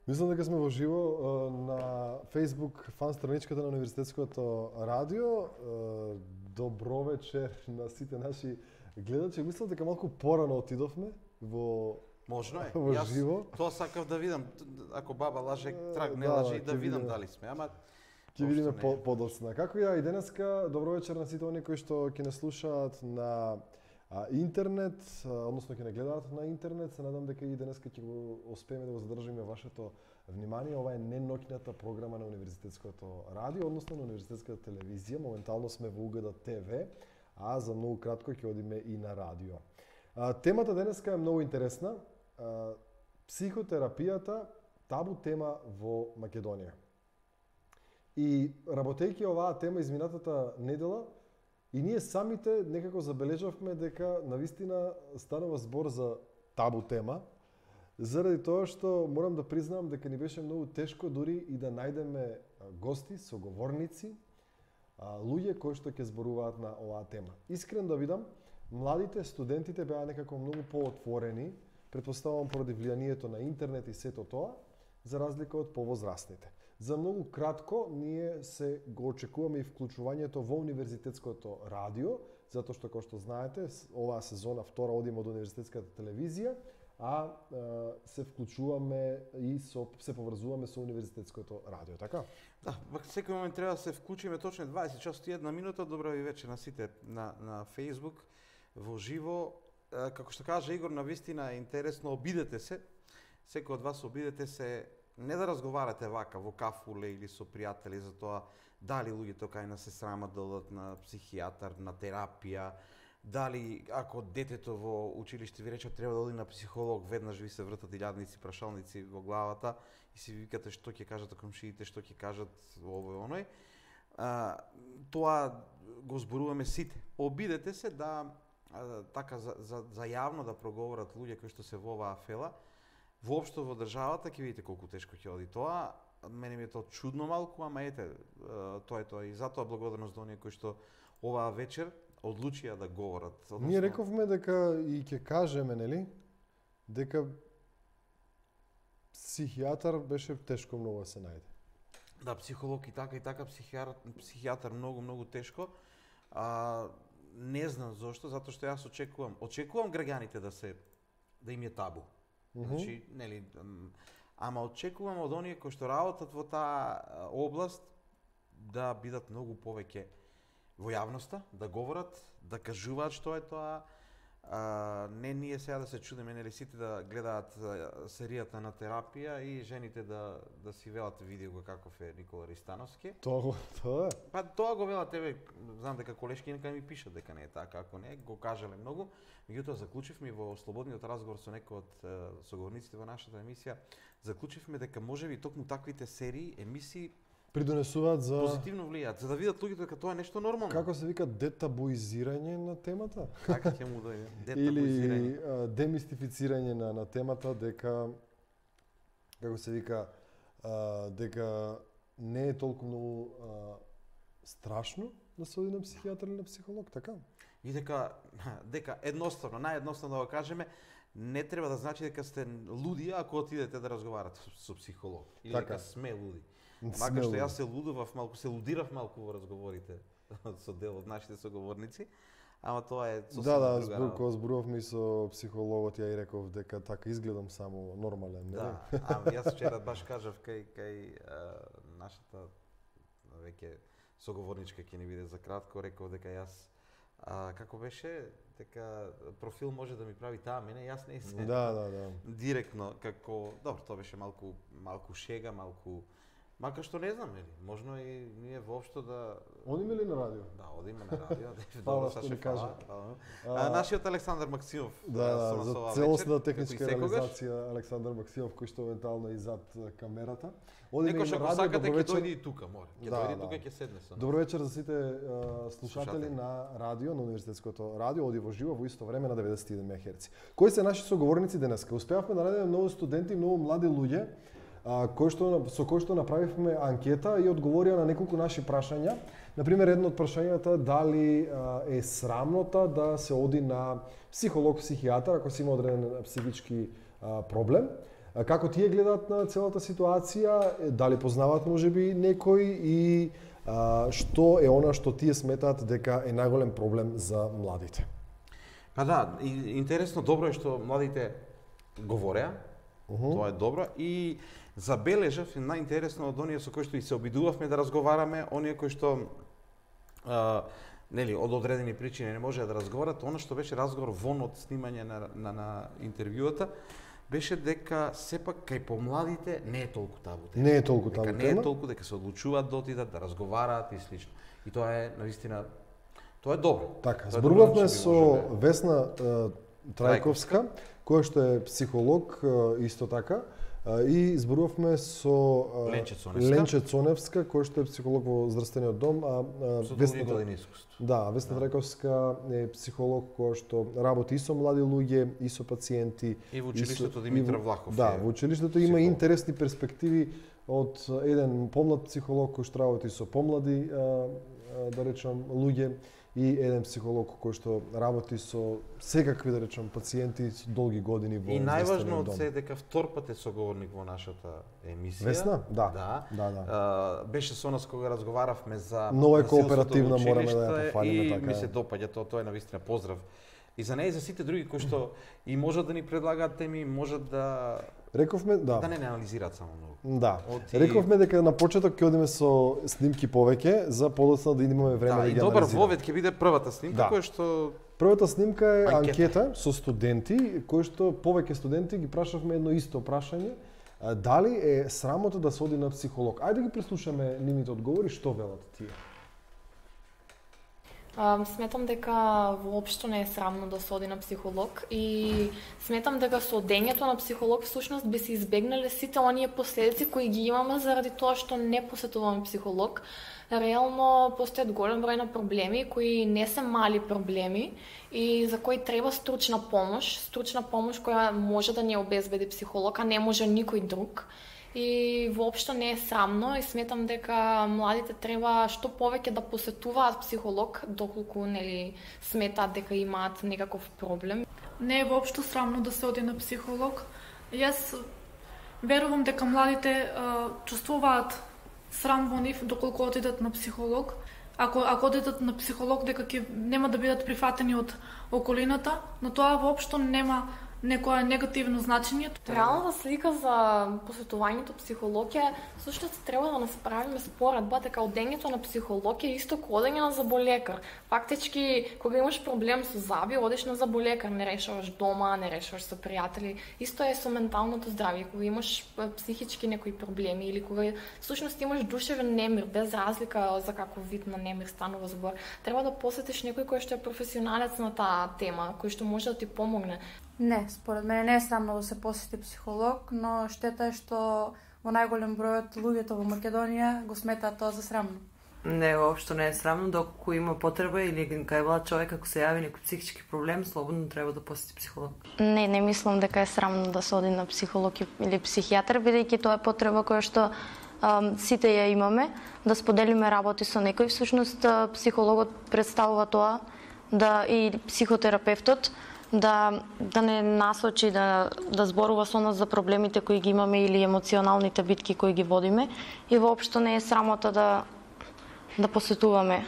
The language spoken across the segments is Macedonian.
Мислам дека сме во живо на Facebook фан страничката на Универзитетското радио. Добро вечер на сите наши гледачи. Мислам дека малку порано отидовме во Можно е. во живо. Тоа сакав да видам, ако баба лаже, трак не лаже, и да видам дали сме, ама ќе видиме подоцна. Како ја и денеска, добро вечер на сите оние кои што ќе не слушаат на интернет, односно ќе не гледаат на интернет. Се надам дека и денеска ќе го успееме да го задржиме вашето внимание. Ова е неноќната програма на Универзитетското радио, односно на Универзитетската телевизија. Моментално сме во УГД ТВ, а за многу кратко ќе одиме и на радио. Темата денеска е многу интересна. Психотерапијата, табу тема во Македонија. И работејќи оваа тема изминатата недела, и ние самите некако забележавме дека навистина станува збор за табу тема, заради тоа што морам да признам дека ни беше многу тешко дури и да најдеме гости, соговорници, луѓе кои што ќе зборуваат на оваа тема. Искрен да видам, младите, студентите беа некако многу поотворени, претпоставувам поради влијанието на интернет и сето тоа, за разлика од повозрастните. За многу кратко ние се го очекуваме и вклучувањето во Универзитетското радио, затоа што, како што знаете, оваа сезона втора одиме од Универзитетската телевизија, а се вклучуваме и се поврзуваме со Универзитетското радио, така? Да, секој момент треба да се вклучиме точно 20 часот и 1 минута. Добро ви вечер на сите на Facebook во живо. Како што кажа Игор, навистина е интересно, обидете се. Секој од вас обидете се, не да разговарате вака во кафуле или со пријатели за тоа дали луѓето кај нас се срамат да одат на психијатар, на терапија, дали ако детето во училиште ви рече треба да оди на психолог, веднаш ви се вртат илјадници прашалници во главата и си викате што ќе кажат комшиите, што ќе кажат овој оној. Тоа го зборуваме сите. Обидете се да така за јавно да проговорат луѓе кои што се во оваа фела. Воопшто во државата ќе видите колку тешко ќе оди тоа. Мене ми е тоа чудно малку, ама ете, тоа е тоа. И затоа благодарност до оние кои што оваа вечер одлучија да говорат. Односно... Ние рековме дека и ќе кажеме, нели, дека психијатар беше тешко многу да се најде. Да, психолог и така психијатар многу тешко. Не знам зошто, затоа што јас очекувам граѓаните да им е табу. Значи, нели, ама очекувам од оние кои што работат во таа област да бидат многу повеќе во јавноста, да говорат, да кажуваат што е тоа. Не ние сега да се чудиме, нели, сите да гледаат серијата на терапија и жените да си велат видео каков е Никола Ристановски. Тоа е. Па тоа го велат, тебе, знам дека колешки нека ми пишат дека не е така, ако не, го кажале многу. Меѓутоа заклучивме во слободниот разговор со некој од соговорниците во нашата емисија, заклучивме дека можеби токму таквите серии, емисии придонесуваат за позитивно влијаат, за да видат луѓето дека тоа е нешто нормално. Како се вика, детабуизирање на темата? Така ќе му дојде. Или демистифицирање на темата, дека како се вика, дека не е толку многу страшно да се оди на психијатар или на психолог, така? И дека едноставно, наједноставно да го кажеме, не треба да значи дека сте луди ако отидете да разговарате со психолог или така. Дека сме луди. Макар што јас се лудирав малку во разговорите со дел од нашите соговорници, ама тоа е сосема друга работа. Кога зборувавме и со психологот, ја и реков дека така изгледам само нормален, не? Да, ама јас вчера баш кажав кај нашата веќе соговорничка ќе ни биде за кратко, реков дека јас како беше, дека профил може да ми прави таа мене, јас не се. Да. Директно како, добро, тоа беше малку шега, макар што не знам, нели, можно и ние воопшто да одиме ли на радио? Да, одиме на радио. Фала што ни кажа. Нашиот Александар Максимов. Да, за целосна техничка реализација Александар Максимов, кој што евентуално и зад камерата. Некој што сакате ќе дојде и тука, мора. Ќе дојде тука ќе седне со нас. Добро вечер за сите слушатели на радио, на Универзитетското радио, оди во живо во исто време на 91 МHz. Кои се наши соговорници денеска? Успеавме да најдеме многу студенти, многу млади луѓе со кој што направивме анкета и одговорија на неколку наши прашања. Например, едно од прашањата дали е срамнота да се оди на психолог, психијатар ако си има одреден психички проблем. Како тие гледаат на целата ситуација, дали познаваат можеби некој и што е она што тие сметаат дека е најголем проблем за младите? Па да, интересно, добро е што младите говореа, тоа е добро, и забележав најинтересно од оние со кои што и се обидувавме да разговараме, оние кои што нели од одредени причини не можеа да разговарат, она што беше разговор вон од снимање на интервјуата, беше дека сепак кај помладите не е толку табу тема. Не е толку табу тема. Не е толку, дека се одлучуваат да отидат, да разговараат и слично. И тоа е навистина, тоа е добро. Така, зборувавме со Весна Трајковска, која што е психолог исто така, и зборувавме со Ленче Цоневска, која што е психолог во здравствениот дом, со долги години искуство. Да, Весна Трајковска е психолог која што работи и со млади луѓе, и со пациенти. И во училиштето Димитар Влахов. Да, во училиштето има интересни перспективи од еден помлад психолог кој што работи со помлади, да речам, луѓе, и еден психолог кој што работи со секакви, да речам, пациенти со долги години во здравствениот дом. И најважно од се дека втор пат е соговорник во нашата емисија. Весна? Да. Беше со нас кога разговаравме за многу е кооперативна, мораме да ја пофалиме така. И ми се допаѓа тоа е навистина поздрав. И за неја и за сите други кои што и можат да ни предлагаат теми, можат да рековме, да не анализираат само многу. Да. Рековме дека на почеток ќе одиме со снимки повеќе за подоцна да имаме време да ги анализираме. Да, и добар вовед ќе биде првата снимка која што првата снимка е анкета со студенти, кои што повеќе студенти ги прашавме едно исто прашање, дали е срамота да се оди на психолог. Ајде да ги преслушаме нивните одговори, што велат тие. Сметам дека воопшто не е срамно да се оди на психолог и сметам дека со одењето на психолог всушност би се избегнале сите оние последици кои ги имаме заради тоа што не посетуваме психолог. Реално постојат голем број на проблеми кои не се мали проблеми и за кои треба стручна помош која може да ни обезбеди психолог, а не може никој друг. И воопшто не е срамно и сметам дека младите треба што повеќе да посетуваат психолог доколку нели сметаат дека имаат некаков проблем. Не е воопшто срамно да се оди на психолог. Јас верувам дека младите чувствуваат срам во нив доколку отидат на психолог. Ако одидат на психолог дека ќе нема да бидат прифатени од околината, но тоа воопшто нема некоја негативно значење. Реалната слика за посетувањето психолог е всушност треба да насправиме споредба дека одењето на психолог е исто како одење на заболекар. Фактички кога имаш проблем со заби, одиш на заболекар, не решаваш дома, не решаваш со пријатели. Исто е со менталното здравје, кога имаш психички некои проблеми или кога всушност имаш душевен немир, без разлика за каков вид на немир станува збор, треба да посетиш некој кој што е професионалец на таа тема, кој што може да ти помогне. Не, според мене не е срамно да се посети психолог, но штета е што во најголем број од луѓето во Македонија го сметаат тоа за срамно. Не, воопшто не е срамно, доколку има потреба или кај влад човек ако се јави некој психички проблем, слободно треба да посети психолог. Не мислам дека е срамно да се оди на психолог или психијатар, бидејќи тоа е потреба која што сите ја имаме, да споделиме работи со некој. Всушност психологот представува тоа и психотерапевтот да не насочи да зборува со нас за проблемите кои ги имаме или емоционалните битки кои ги водиме и воопшто не е срамота да посетуваме.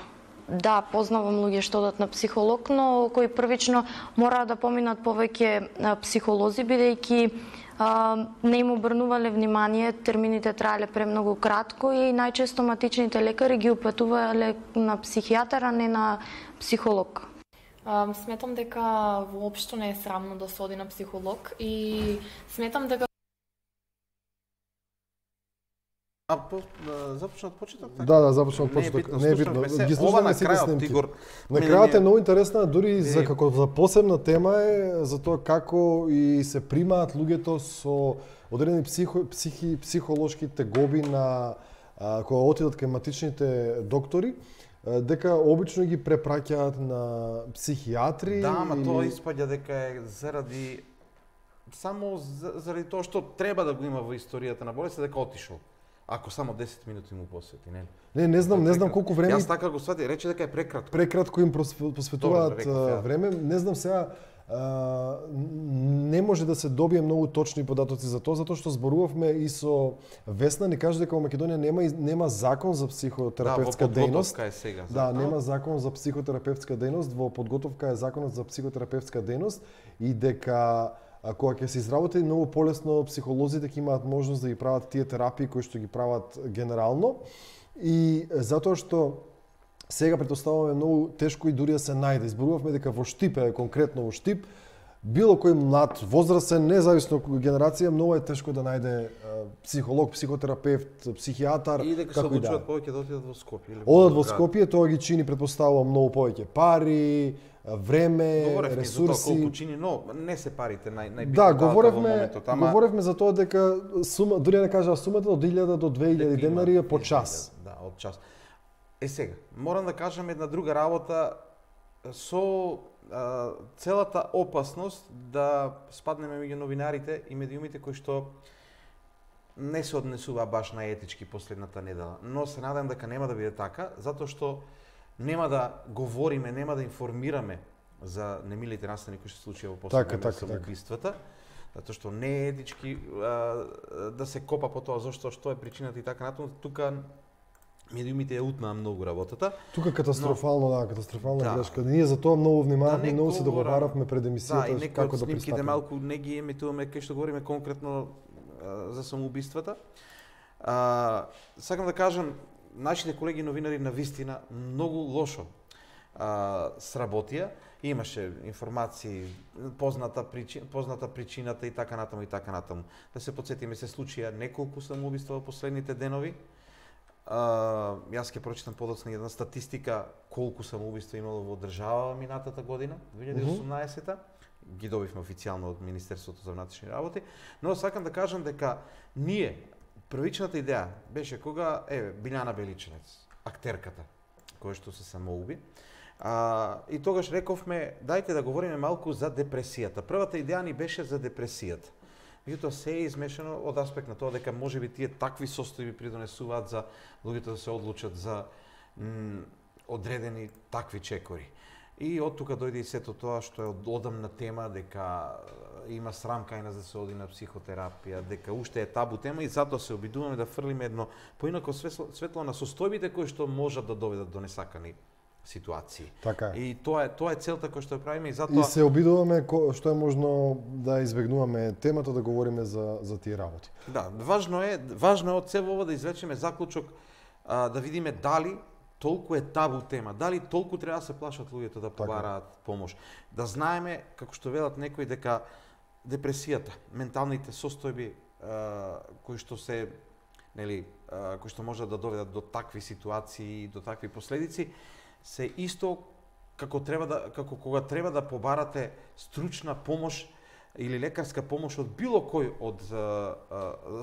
Да, познавам луѓе што одат на психолог, но кои првично мора да поминат повеќе психолози, бидејќи не им обрнувале внимание, термините траеле премногу кратко и најчесто матичните лекари ги упатувале на психијатар, а не на психолог. Сметам дека воопшто не е срамно да се оди на психолог и сметам дека започна од почеток така? Да, започна од почеток. Не е битно. Ги слушаме сите снимки. На крајот е многу интересна, дури за како за посебна тема е за тоа како и се примаат луѓето со одредени психолошки тегоби на кога отидат кај матичните доктори, дека обично ги препраќаат на психијатри. Да, ама тоа испаѓа дека е само заради тоа што треба да го има во историјата на болест, дека отишол. Ако само 10 минути му посвети, не? Не знам колку време. Јас така го свати, рече дека е прекратко. Прекратко им посветуваат време. Не знам сега не може да се добие многу точни податоци за тоа, затоа што зборувавме и со Весна, ни кажа дека во Македонија нема закон за психотерапевтска дејност. Е сега, да, нема закон за психотерапевтска дејност, во подготовка е законот за психотерапевтска дејност и дека кога ќе се изработи многу полесно психолозите ќе имаат можност да ги прават тие терапии кои што ги прават генерално и затоа што сега претпоставуваме многу тешко и дури да се најде. Изборувавме дека во Штип, конкретно во Штип, било кој млад, возрастен, независно од генерација, многу е тешко да најде психолог, психотерапевт, психијатар, и дека се одлучуваат повеќе да отидат во Скопје. Одат во Скопје, тоа ги чини претпоставувам многу повеќе пари, време, ресурси. За тоа колку чини, но не се парите најбитната да, во моментот. Говоревме за тоа дека сума, дури не кажа сумата од 1000 до 2000 денари по час. Да, од час. Сега, морам да кажам една друга работа со целата опасност да спаднеме меѓу новинарите и медиумите кои што не се однесува баш на етички последната недела. Но се надам дека нема да биде така, затоа што нема да говориме, нема да информираме за немилите настани кои се случија во последно време со убиствата, затоа што не е етички да се копа по тоа зашто што е причината и така натаму. Тука медиумите ја утнаа многу работата. Тука катастрофална грешка. Ние за тоа многу внимававме, многу се договаравме пред емисијата како да пристапиме. Да, малку не ги емитуваме кај што говориме конкретно за самоубиствата. Сакам да кажам, нашите колеги новинари навистина многу лошо сработија. Имаше информации, позната причината и така натаму. Да се потсетиме, се случија неколку самоубиства во последните денови. Јас ќе прочитам подоцна една статистика колку самоубиства имало во држава минатата година, 2018-та. Ги добивме официјално од Министерството за внатрешни работи, но сакам да кажам дека ние првичната идеја беше кога Билјана Беличенец, актерката, која што се самоуби, и тогаш рековме дајте да говориме малку за депресијата. Првата идеја ни беше за депресијата. Меѓутоа се е измешано од аспект на тоа дека можеби тие такви состојби придонесуваат за луѓето да се одлучат за одредени такви чекори. И од тука дојде и сето тоа што е одамна тема, дека има срам кај нас да се оди на психотерапија, дека уште е табу тема и затоа се обидуваме да фрлиме едно поинако светло на состојбите кои што можат да доведат до несакани ситуации. Така е. И тоа е целта која што ја правиме и затоа и се обидуваме што е можно да избегнуваме темата да говориме за тие работи. Да, важно е од се ова да извлечеме заклучок, да видиме дали толку е табу тема, дали толку треба да се плашат луѓето да побараат помош. Да знаеме, како што велат некои, дека депресијата, менталните состојби кои што се, кои што можат да доведат до такви ситуации и до такви последици, се исто како кога треба да побарате стручна помош или лекарска помош од било кој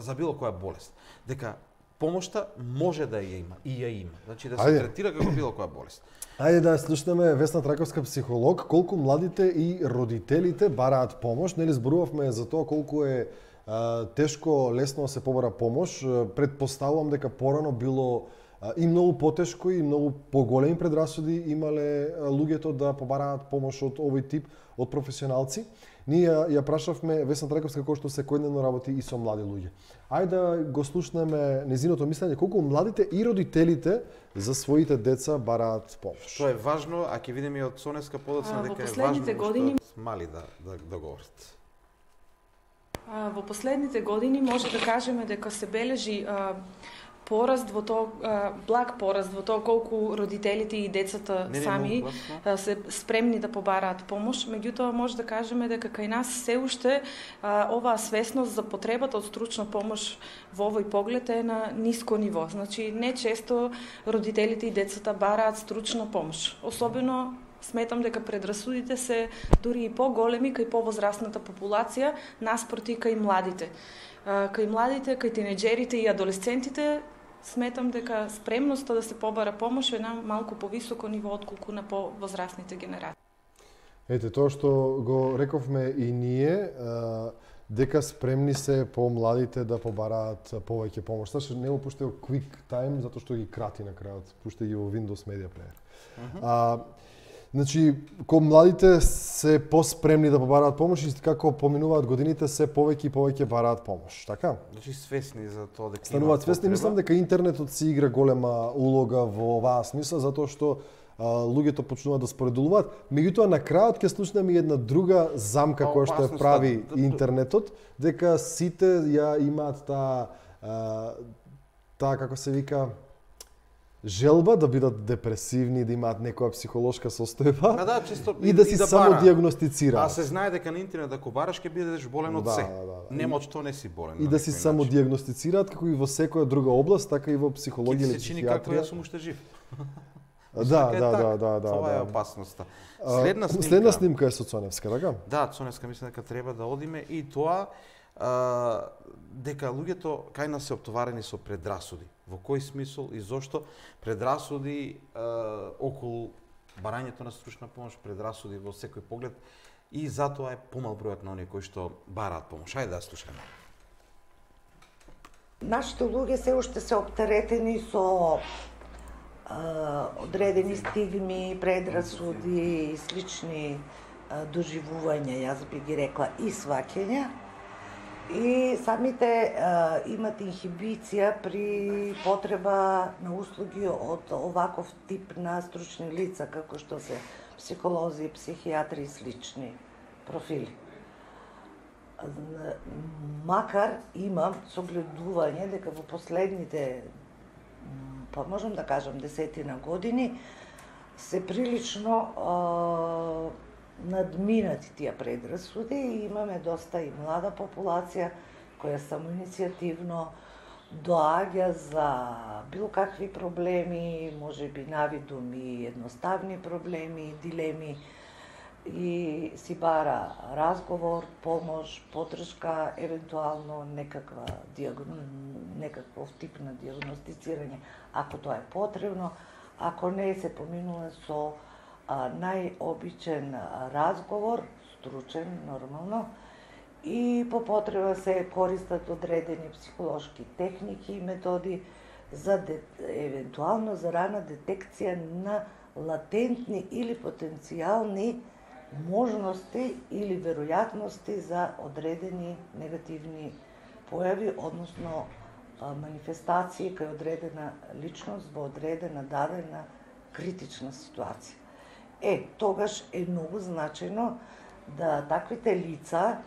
за било која болест. Дека помошта може да ја има и ја има. Значи да се третира како било која болест. Ајде да слушнеме Весна Траковска, психолог, колку младите и родителите бараат помош. Нели зборувавме за тоа колку е тешко, лесно се побара помош. Предпоставувам дека порано било и многу потешко и многу поголеми предрасуди имале луѓето да побараат помош од овој тип од професионалци. Ние ја прашавме Весна Траковска кој што секојдневно работи и со млади луѓе. Ајде да го слушнеме незиното мислење колку младите и родителите за своите деца бараат помош. Што е важно, а ќе видиме и од Сонеска подоцна дека е важно што мали да говорат. Во последните години може да кажеме дека се бележи пораст во тоа, благ пораст во тоа колку родителите и децата сами се спремни да побараат помош. Меѓутоа може да кажеме дека кај нас се уште оваа свесност за потребата од стручна помош во овој поглед е на ниско ниво. Значи не често родителите и децата бараат стручна помош. Особено сметам дека предрасудите се дури и поголеми кај повозрастната популација наспроти кај младите. Кај младите, кај тинеџерите и адолесцентите сметам дека спремноста да се побара помош е на малку повисоко ниво отколку на повозрастните генерации. Ете, тоа што го рековме и ние, дека спремни се по-младите да побараат повеќе помош. Сашо не го пуштај Quick Time, затоа што ги крати на крајот. Пуштај ги во Windows Media Player. Значи, кога младите се поспремни да побараат помош и како поминуваат годините се повеќе и повеќе бараат помош, така? Значи свесни за тоа дека стануваат свесни, мислам дека интернетот си игра голема улога во оваа смисла затоа што луѓето почнуваат да споредуваат. Меѓутоа на крајот ќе слушнеме една друга замка која што ја прави интернетот, дека сите ја имаат таа како се вика желба да бидат депресивни, да имаат некоја психолошка состојба чисто, и да си самодиагностицираат. А се знае дека на интернет ако бараш ќе бидеш болен од се. Нема од што не си болен. И да си самодиагностицираат како и во секоја друга област, така и во психологија или психијатрија. Ќе се чини како јас сум уште жив. Да. Тоа е опасноста. Следна снимка е со Цоневска, така? Да, Цоневска мислам дека треба да одиме и тоа дека луѓето кај нас се оптоварени со предрасуди. Во кој смисол и зошто предрасуди околу барањето на стручна помош, предрасуди во секој поглед и затоа е помал бројот на оние кои што бараат помош. Ајде да слушаме. Нашите луѓе се уште се оптеретени со одредени стигми, предрасуди и слични доживувања, јас би ги рекла, и сваќања. И самите имат инхибиција при потреба на услуги од оваков тип на стручни лица, како што се психолози, психијатри и слични профили. Макар имам согледување дека во последните, па можам да кажам, 10 години, се прилично надминати тие предрасуди и имаме доста и млада популација која самоиницијативно доаѓа за било какви проблеми, можеби навидум и едноставни проблеми, дилеми и си бара разговор, помош, поддршка, евентуално некаков тип на диагностицирање, ако тоа е потребно, ако не се поминува со најобичен разговор, стручен, нормално, и по потреба се користат одредени психолошки техники и методи за евентуално за рана детекција на латентни или потенцијални можности или веројатности за одредени негативни појави, односно манифестации кај одредена личност во одредена дадена критична ситуација. Тогаш е многу значајно да таквите лица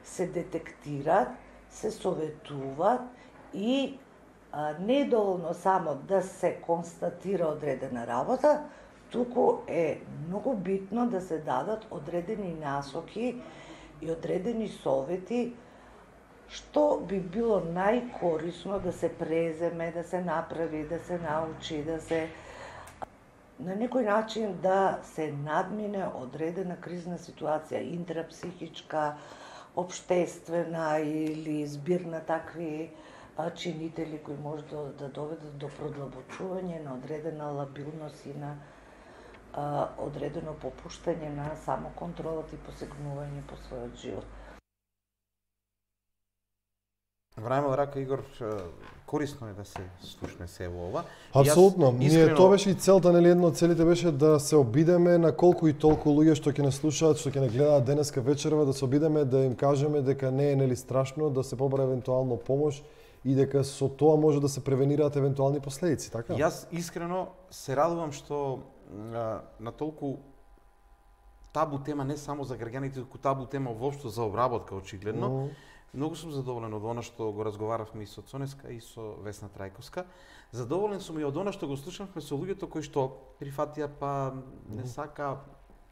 се детектираат, се советуваат и не е доволно само да се констатира одредена работа, туку е многу битно да се дадат одредени насоки и одредени совети што би било најкорисно да се преземе, да се направи, да се научи, да се на некој начин да се надмине одредена кризна ситуација, интрапсихичка, општествена или збир на такви чинители кои може да доведат до продлабочување на одредена лабилност и на одредено попуштање на самоконтролот и посегнување по својот живот. Време рака, Игор, корисно е да се слушне се во ова. Апсолутно. Ние тоа беше и целта, нели, едно од целите беше да се обидеме на колку и толку луѓе што ќе не слушаат, што ќе не гледаат денеска вечерва, да се обидеме да им кажеме дека не е нели страшно, да се побара евентуално помош и дека со тоа може да се превенираат евентуални последици, така? Јас искрено се радувам што на толку табу тема не само за граѓаните, туку табу тема воопшто за обработка очигледно. Многу сум задоволен од она што го разговаравме и со Цоневска и со Весна Трајковска. Задоволен сум и од она што го слушавме со луѓето кои што прифатија па не сака,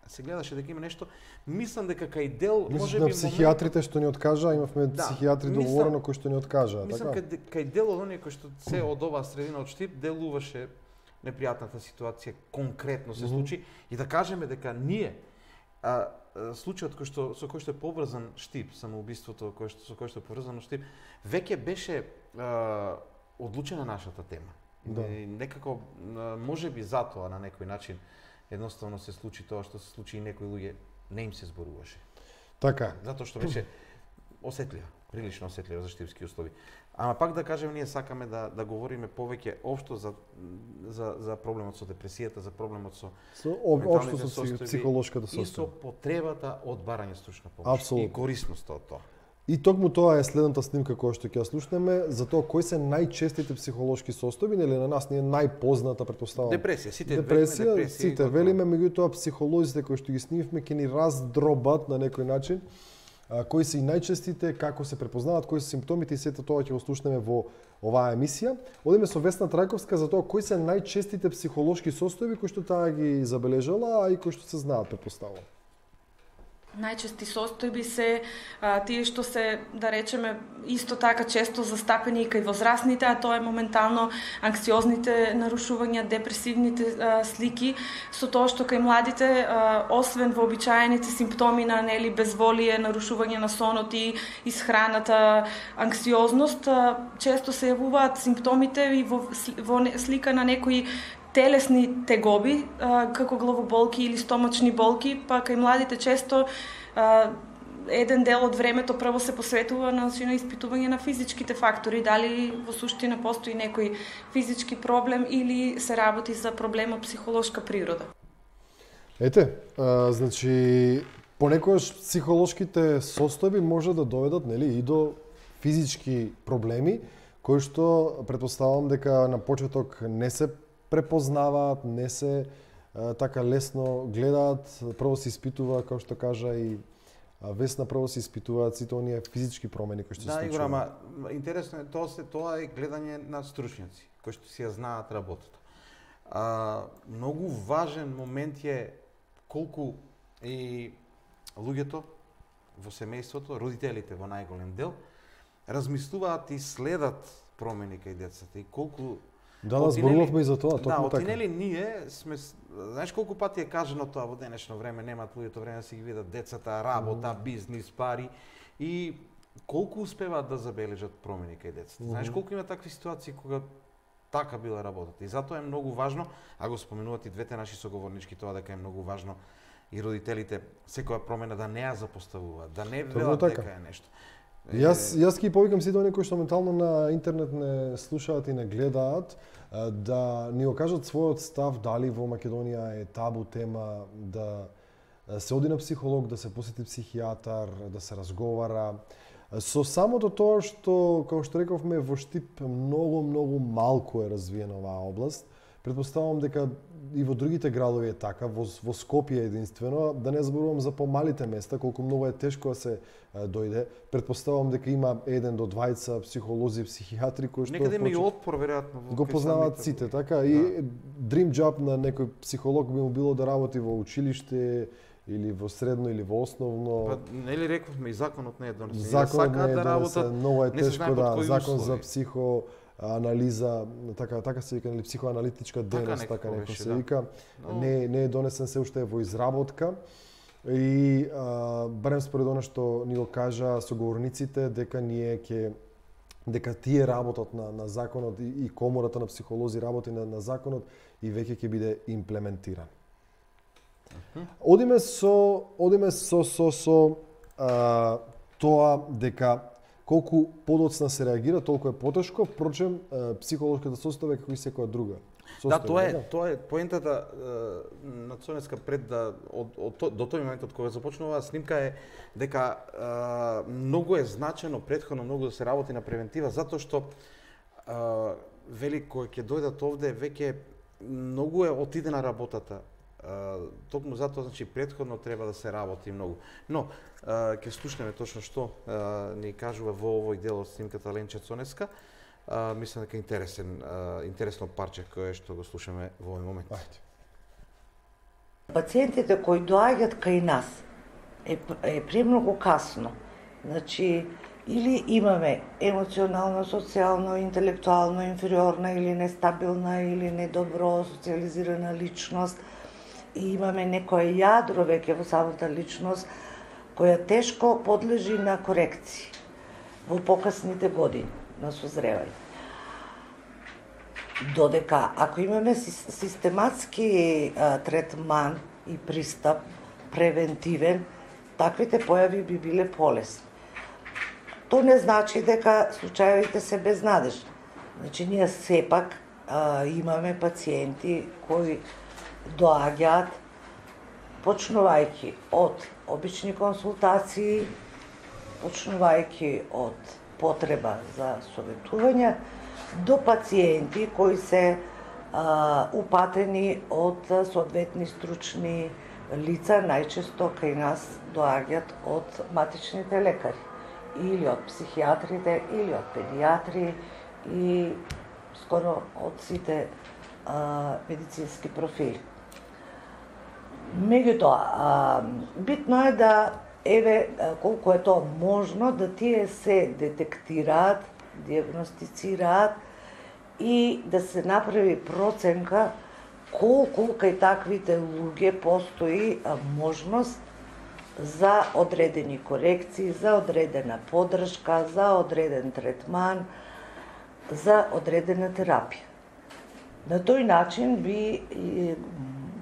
се гледаше дека има нешто. Мислам дека кај дел можеби на психијатрите што ни откажа, имавме психијатри договорено кои што ни откажа, така? Мислам кај дел од оние кои што се од оваа средина од Штип делуваше непријатната ситуација конкретно се случи и да кажеме дека ние случајот со кој што е поврзан Штип, самоубиството со кој што е поврзано Штип, веќе беше одлучена нашата тема. Да. Некако можеби затоа на некој начин едноставно се случи тоа што се случи и некои луѓе не им се зборуваше. Така. Затоа што беше осетлива. прилично осетливо за штипски услови. Ама пак да кажем, ние сакаме да говориме повеќе општо за проблемот со депресијата, за проблемот со општо со психолошката состојба. И со потребата од барање стручна помош. Апсолутно. И корисноста од тоа. И токму тоа е следната снимка која што ќе ја слушнеме, за тоа кои се најчестите психолошки состојби, нели на нас ни е најпозната, претпоставам. Депресија, сите велиме, меѓутоа психолозите кои што ги снимивме ќе ни раздробат на некој начин кои се и најчестите, како се препознаваат, кои се симптомите и сето тоа ќе го слушнеме во оваа емисија. Одиме со Весна Трајковска за тоа кои се најчестите психолошки состојби кои што таа ги забележала, а и кои што се знаат, препоставувам. Најчести состојби се тие што се, да речеме, исто така често застапени и кај возрастните, а тоа е моментално анксиозните нарушувања, депресивните слики, со тоа што кај младите, освен вообичаените симптоми на безволие, нарушување на сонот и исхраната, анксиозност, често се јавуваат симптомите и во слика на некои телесни тегоби, како главоболки или стомачни болки, па кај младите често еден дел од времето прво се посветува на испитување на физичките фактори, дали во суштина постои некој физички проблем или се работи за проблем од психолошка природа. Ете, значи понекогаш психолошките состојби може да доведат, нели, и до физички проблеми кои што претпоставам дека на почеток не се препознаваат, не се така лесно гледаат, прво се испитува, како што кажа и Весна, прво се испитуваат сите оние физички промени кои што се случуваат. Да, Игор, ама интересно е тоа е гледање на стручњаци кои што си ја знаат работата. Многу важен момент е колку и луѓето во семејството, родителите во најголем дел, размислуваат и следат промени кај децата и колку зборувавме и за тоа, токму така. Отинели ние сме, знаеш колку пати е кажано тоа во денешно време, немаат луѓето време да си ги видат децата, работа, бизнис, пари и колку успеваат да забележат промени кај децата. Знаеш колку има такви ситуации кога така била работата. И затоа е многу важно, а го споменуваат и двете наши соговорнички тоа дека е многу важно и родителите секоја промена да не ја запоставуваат, да не велат дека е нешто. Јас ги повикам сите оние кои што ментално на интернет не слушаат и не гледаат, да ни го кажат својот став дали во Македонија е табу тема да се оди на психолог, да се посети психијатар, да се разговара. Со самото тоа што, како што рековме, во Штип многу малку е развиена оваа област, претпоставам дека и во другите градови е така, во Скопје единствено, да не зборувам за помалите места, колку многу е тешко да се дојде. Претпоставам дека има 1 до 2 психолози, психијатри кои што некаде има и отпор веројатно го познаваат сите, така и dream job на некој психолог би му било да работи во училиште или во средно или во основно. Па нели рековме и законот не е донесен. Законот не е донесен, многу е тешко закон за психоанализа, така се вика, психоаналитичка дейност, така некој се вика, не е донесен, се уште е во изработка. И барем според она што ни го кажа соговорниците, дека тие работат на законот и комората на психолози работи на законот и веќе ќе биде имплементиран. Одиме со тоа дека колку подоцна се реагира, толку е потешко, впрочем психолошката состојба е како и секоја друга. Да, тоа е поентата на Цонеска пред до тој момент од кога започнува оваа снимка е дека многу е значено претходно многу да се работи на превентива, затоа што вели кои ќе дојдат овде веќе многу е отидена работата. Токму затоа, значи, претходно треба да се работи многу. Но, ќе слушнеме точно што ни кажува во овој дел од снимката Ленче Цонеска. Мислам дека интересно парче кое што го слушаме во овој момент. Пациентите кои доаѓаат кај нас е премногу касно. Значи, или имаме емоционално, социјално, интелектуално инфериорна или нестабилна или недобро социализирана личност, и имаме некое јадро веќе во самата личност која тешко подлежи на корекции во покасните години на созревање. Додека ако имаме систематски третман и пристап превентивен, таквите појави би биле полесни. то не значи дека случаевите се безнадежни. Значи, ние сепак имаме пациенти кои доаѓаат почнувајќи од обични консултации, почнувајќи од потреба за советување, до пациенти кои се упатени од соодветни стручни лица, најчесто кај нас доаѓаат од матичните лекари, или од психијатрите, или од педијатри, и скоро од сите медицински профили. Меѓутоа, битно е да, колку е тоа можно, да тие се детектираат, диагностицираат и да се направи проценка колку кај таквите луѓе постои можност за одредени корекции, за одредена поддршка, за одреден третман, за одредена терапија. На тој начин би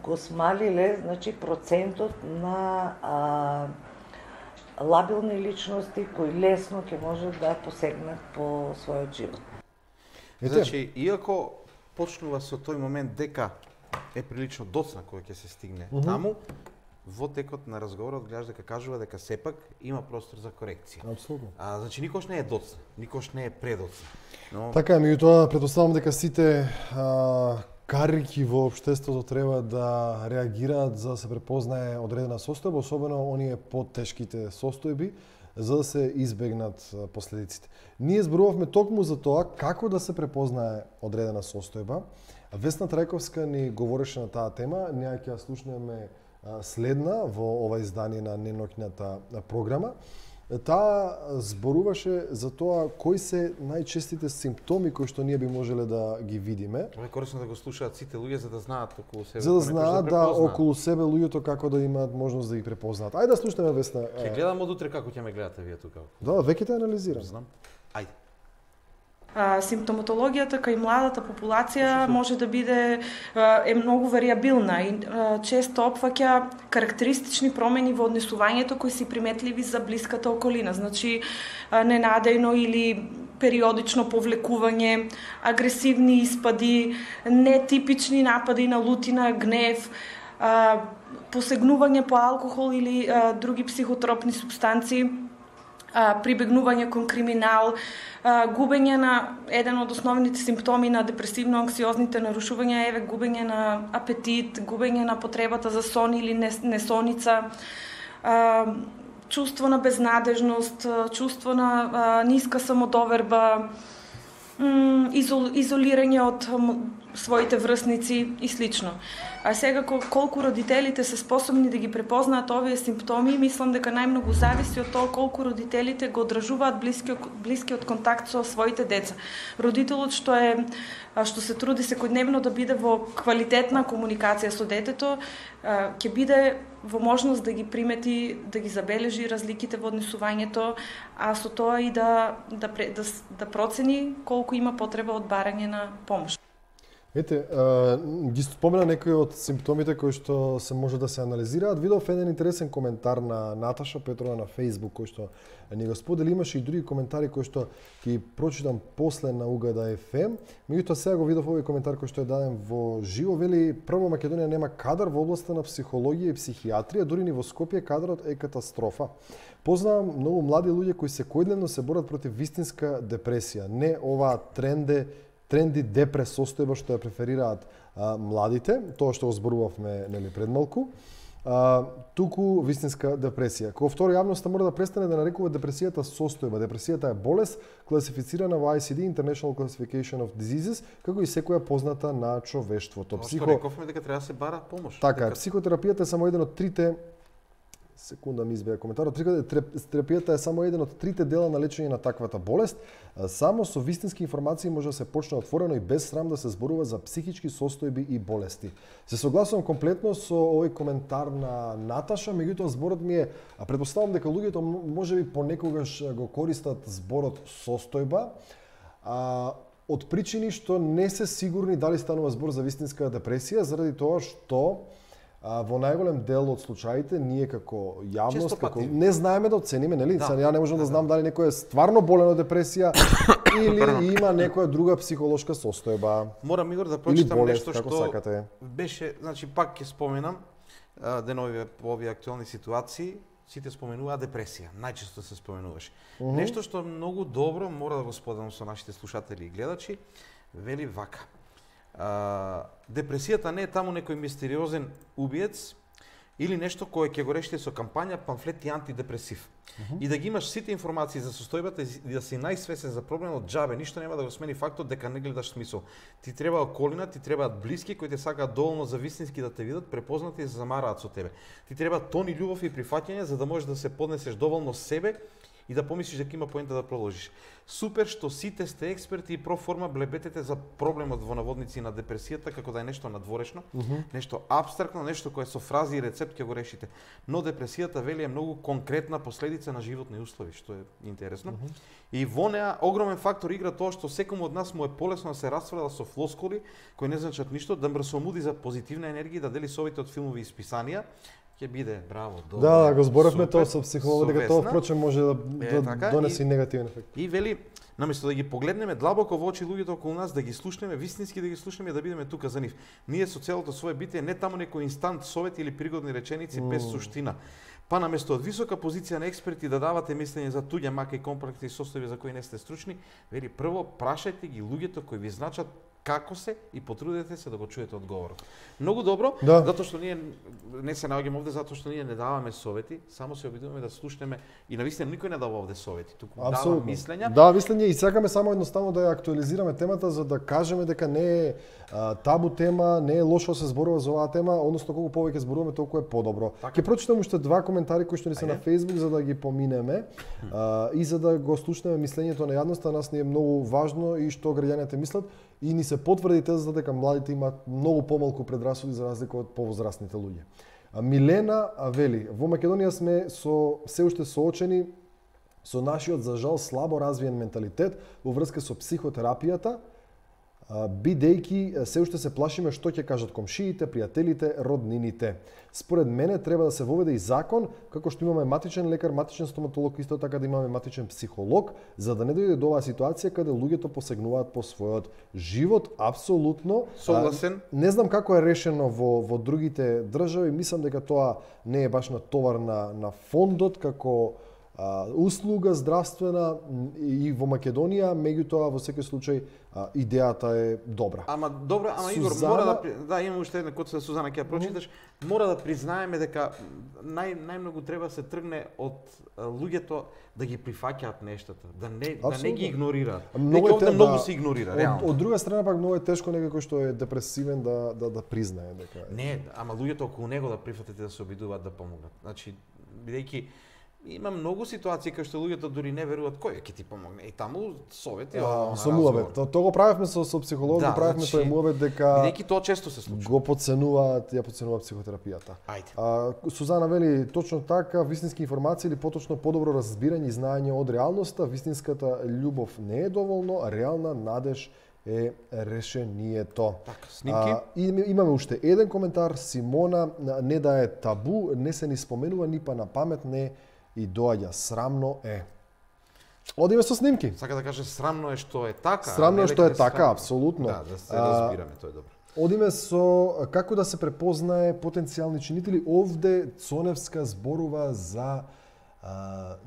го смалиле, значи, процентот на лабилни личности кои лесно ќе можат да посегнат по својот живот. Значи, иако почнува со тој момент дека е прилично доцна кој ќе се стигне таму, во текот на разговорот гледаш дека кажува дека сепак има простор за корекција. Апсолутно. Значи, никош не е доцна, никош не е предоцна. Но... Така е, меѓутоа претпоставам дека сите карики во општеството треба да реагираат за да се препознае одредена состојба, особено оние потешките состојби, за да се избегнат последиците. Ние зборувавме токму за тоа како да се препознае одредена состојба. Весна Трајковска ни говореше на таа тема, ние ќе ја слушнеме следна во ова издание на неноќната програма. Таа зборуваше за тоа кои се најчестите симптоми кои што ние би можеле да ги видиме. Ова е корисно да го слушаат сите луѓе за да знаат околу себе. За да знаат околу себе луѓето како да имаат можност да ги препознаат. Ајде да слушнеме Весна. Ќе гледам од утре како ќе ме гледате вие тука. Да, веќе те анализирам. Знам. Ајде. Симптоматологијата кај младата популација може да биде е многу варијабилна и често опфаќа карактеристични промени во однесувањето кои се приметливи за блиската околина, значи ненадејно или периодично повлекување, агресивни испади, нетипични напади на лутина, гнев, посегнување по алкохол или други психотропни супстанции, прибегнување кон криминал, губење на еден од основните симптоми на депресивно-анксиозните нарушувања е губење на апетит, губење на потребата за сон или несоница, чувство на безнадежност, чувство на ниска самодоверба, изолирање од своите врсници и слично. А сега колку родителите се способни да ги препознаат овие симптоми, мислам дека најмногу зависи од тоа колку родителите го одржуваат блискиот контакт со своите деца. Родителот што се труди секојдневно да биде во квалитетна комуникација со детето, ќе биде во можност да ги примети, да ги забележи разликите во однесувањето, а со тоа и да процени колку има потреба од барање на помош. Ете, ги спомена некои од симптомите кои што се може да се анализираат. Видов еден интересен коментар на Наташа Петрова на Facebook кој што ни го сподели. Имаше и други коментари кои што ќе прочитам после на Угада FM. Меѓутоа сега го видов овој коментар кој што е даден во живо. Вели, прво, Македонија нема кадар во областа на психологија и психијатрија, дури ни во Скопје кадарот е катастрофа. Познавам многу млади луѓе кои секојдневно се борат против вистинска депресија. Не оваа тренди депрес состојба што ја преферираат младите, тоа што зборувавме нели пред малку, туку вистинска депресија. Како второ, јавноста мора да престане да нарекува депресијата состојба. Депресијата е болест класифицирана во ICD, International Classification of Diseases, како и секоја позната на човештвото. Што рековме дека треба да се бара помош. Така, психотерапијата е само еден од трите секунда ми избега коментарот. Терапијата е само еден од трите дела на лечење на таквата болест. Само со вистински информации може да се почне отворено и без срам да се зборува за психички состојби и болести. Се согласувам комплетно со овој коментар на Наташа, меѓутоа зборот ми е, претпоставам дека луѓето можеби понекогаш го користат зборот состојба, од причини што не се сигурни дали станува збор за вистинска депресија, заради тоа што во најголем дел од случаите ние како јавност, како пати не знаеме да оцениме, нели? Да. Ја не можам да знам дали некој е стварно болен од депресија или има некоја друга психолошка состојба. Морам, Игор, да прочитам болест, нешто како што сакате. беше, значи пак ќе споменам денови по овие актуелни ситуации, сите споменуваат депресија, најчесто се споменуваше. Нешто што многу добро мора да го споделам со нашите слушатели и гледачи, вели вака. Депресијата не е таму некој мистериозен убиец или нешто кое ќе го решите со кампања, памфлет и антидепресив. И да ги имаш сите информации за состојбата и да си најсвесен за проблемот, џабе, ништо нема да го смени фактот дека не гледаш смисол. Ти треба околина, ти требаат блиски кои те сакаат доволно за вистински да те видат, препознати и се замараат со тебе. Ти треба тони љубов и прифаќање за да можеш да се поднесеш доволно себе и да помислиш дека има поента да продолжиш. Супер што сите сте експерти и проформа блебетете за проблемот во наводници на депресијата како да е нешто надворешно, нешто абстрактно, нешто кое со фрази и рецепт ќе го решите. Но депресијата вели е многу конкретна последица на животни услови, што е интересно. И во неа огромен фактор игра тоа што секому од нас му е полесно да се расфрла со флоскули кои не значат ништо, да мрсомуди за позитивна енергија, да дели совите од филмови и списанија. Ќе биде браво, добро. Да, го зборавме тоа со психолог, дека тоа впрочем може да така, донесе негативен ефект. И вели, наместо да ги погледнеме длабоко во очи луѓето околу нас, да ги слушнеме, вистински да ги слушнеме, да бидеме тука за нив. Ние со целото свое битие не таму некој инстант совет или пригодни реченици без суштина. Па наместо од висока позиција на експерти да давате мислење за туѓа мака и комплексни состојби за кои не сте стручни, вели прво прашајте ги луѓето кои ви значат како се и потрудете се да го чуете одговорот. Многу добро, затоа што ние не се наоѓаме овде затоа што ние не даваме совети, само се обидуваме да слушнеме и навистина никој не дава овде совети, туку дава мислења. Да, мислење и сакаме само едноставно да ја актуализираме темата за да кажеме дека не е табу тема, не е лошо да се зборува за оваа тема, односно колку повеќе зборуваме толку е подобро. Ќе прочитам уште два коментари кои што ни се на Facebook за да ги поминеме и за да го слушнеме мислењето на јавноста, нас ни е многу важно и што граѓаните мислат и ни се потврди тезата дека младите имаат многу помалку предрасуди за разлика од повозрастните луѓе. Милена вели, во Македонија сме се уште соочени со нашиот за жал слабо развиен менталитет во врска со психотерапијата, бидејќи се уште се плашиме што ќе кажат комшиите, пријателите, роднините. Според мене треба да се воведе и закон, како што имаме матичен лекар, матичен стоматолог, исто така да имаме матичен психолог, за да не дојде до оваа ситуација каде луѓето посегнуваат по својот живот. Апсолутно. Согласен. Не знам како е решено во другите држави, мислам дека тоа не е баш на товар на фондот како услуга здравствена и во Македонија, меѓутоа во секој случај идејата е добра. Ама добра, Игор, мора да имаме уште една коца Сузана ќе ја прочиташ, мора да признаеме дека најмногу треба се тргне од луѓето да ги прифаќаат нештата, да не ги игнорираат. Многу се игнорира, реално. Од друга страна пак многу е тешко некој кој што е депресивен да признае дека не, ама луѓето околу него да прифатите да се обидуваат да помогнат. Значи, бидејќи има многу ситуации кај што луѓето дури не веруваат кој ќе ти помогне. И таму совети со муавет. Тоа го правевме со психолог, го правевме тој муавет дека бидејќи тоа често се случува. Го подценуваат, ја подценуваат психотерапијата. Сузана вели точно така, вистински информации или поточно подобро разбирање и знаење од реалноста, вистинската љубов не е доволно, а реална надеж е решението. Така, снимки. Имаме уште еден коментар, Симона, не да е табу, не се ни споменува ни па на памет не и доаѓа, срамно е. Одиме со снимки. Сака да каже срамно е што е така. Срамно е што е така, апсолутно. Да се разбираме, тоа е добро. Одиме со како да се препознае потенцијални чинители. Овде Цоневска зборува за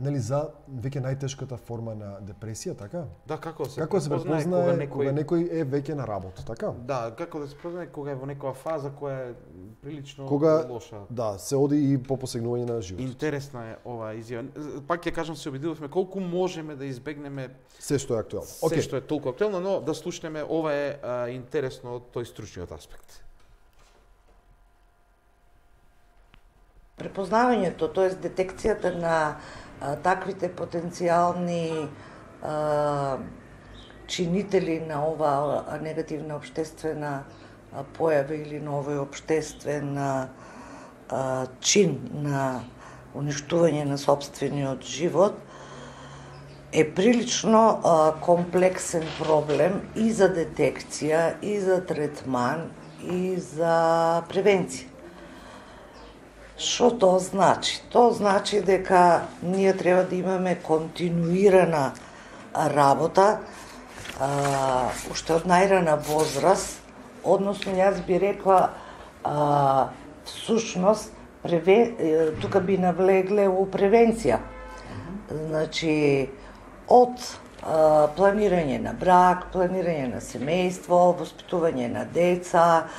нели за веќе најтешката форма на депресија, така? Да, како да се препознае кога некој е веќе на работа, така? Да, како да се препознае кога е во некоја фаза која е прилично лоша. Да, се оди и по посегнување на живот. Интересна е оваа изјава. Пак ќе кажам, се обидувавме колку можеме да избегнеме се што е актуелно. Се што е толку актуелно, но да слушнеме ова е интересно од тој стручниот аспект. Препознавањето, т.е. детекцијата на таквите потенцијални чинители на оваа негативна општествена појава или на овој општествен чин на уништување на сопствениот живот е прилично комплексен проблем и за детекција, и за третман, и за превенција. Што тоа значи? Тоа значи дека ние треба да имаме континуирана работа, уште од најрана возраст, односно јас би рекла, всушност, тука би навлегле у превенција. Значи, од планирање на брак, планирање на семејство, воспитување на деца,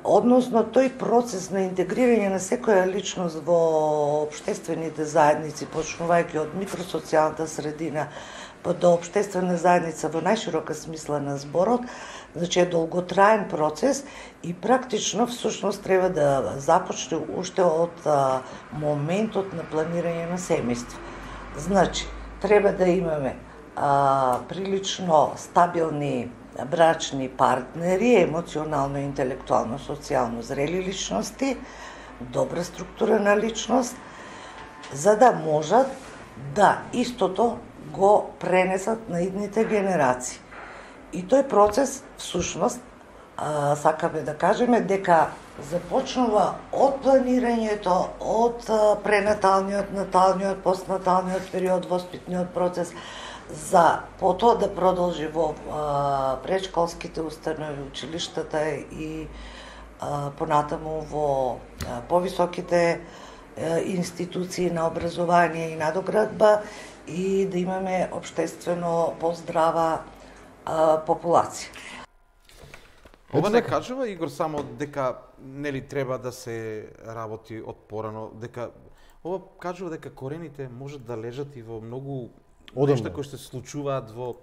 односно тој процес на интегрирање на секоја личност во општествените заедници, почнувајќи од микросоцијалната средина па до општествена заедница во најширока смисла на зборот, значи е долготраен процес и практично всушност треба да започне уште од моментот на планирање на семејство. Значи, треба да имаме прилично стабилни брачни партнери, емоционално, интелектуално, социјално зрели личности, добра структура на личност, за да можат да истото го пренесат на идните генерации. И тој процес, всушност, сакаме да кажеме дека започнува од планирањето, од пренаталниот, наталниот, постнаталниот период, воспитниот процес, за потоа да продолжи во предшколските установи, училиштата и понатаму во повисоките институции на образование и надоградба и да имаме општествено поздрава популација. Ова не кажува, Игор, само дека нели треба да се работи од порано, дека ова кажува дека корените можат да лежат и во многу нешта кои се случуваат во...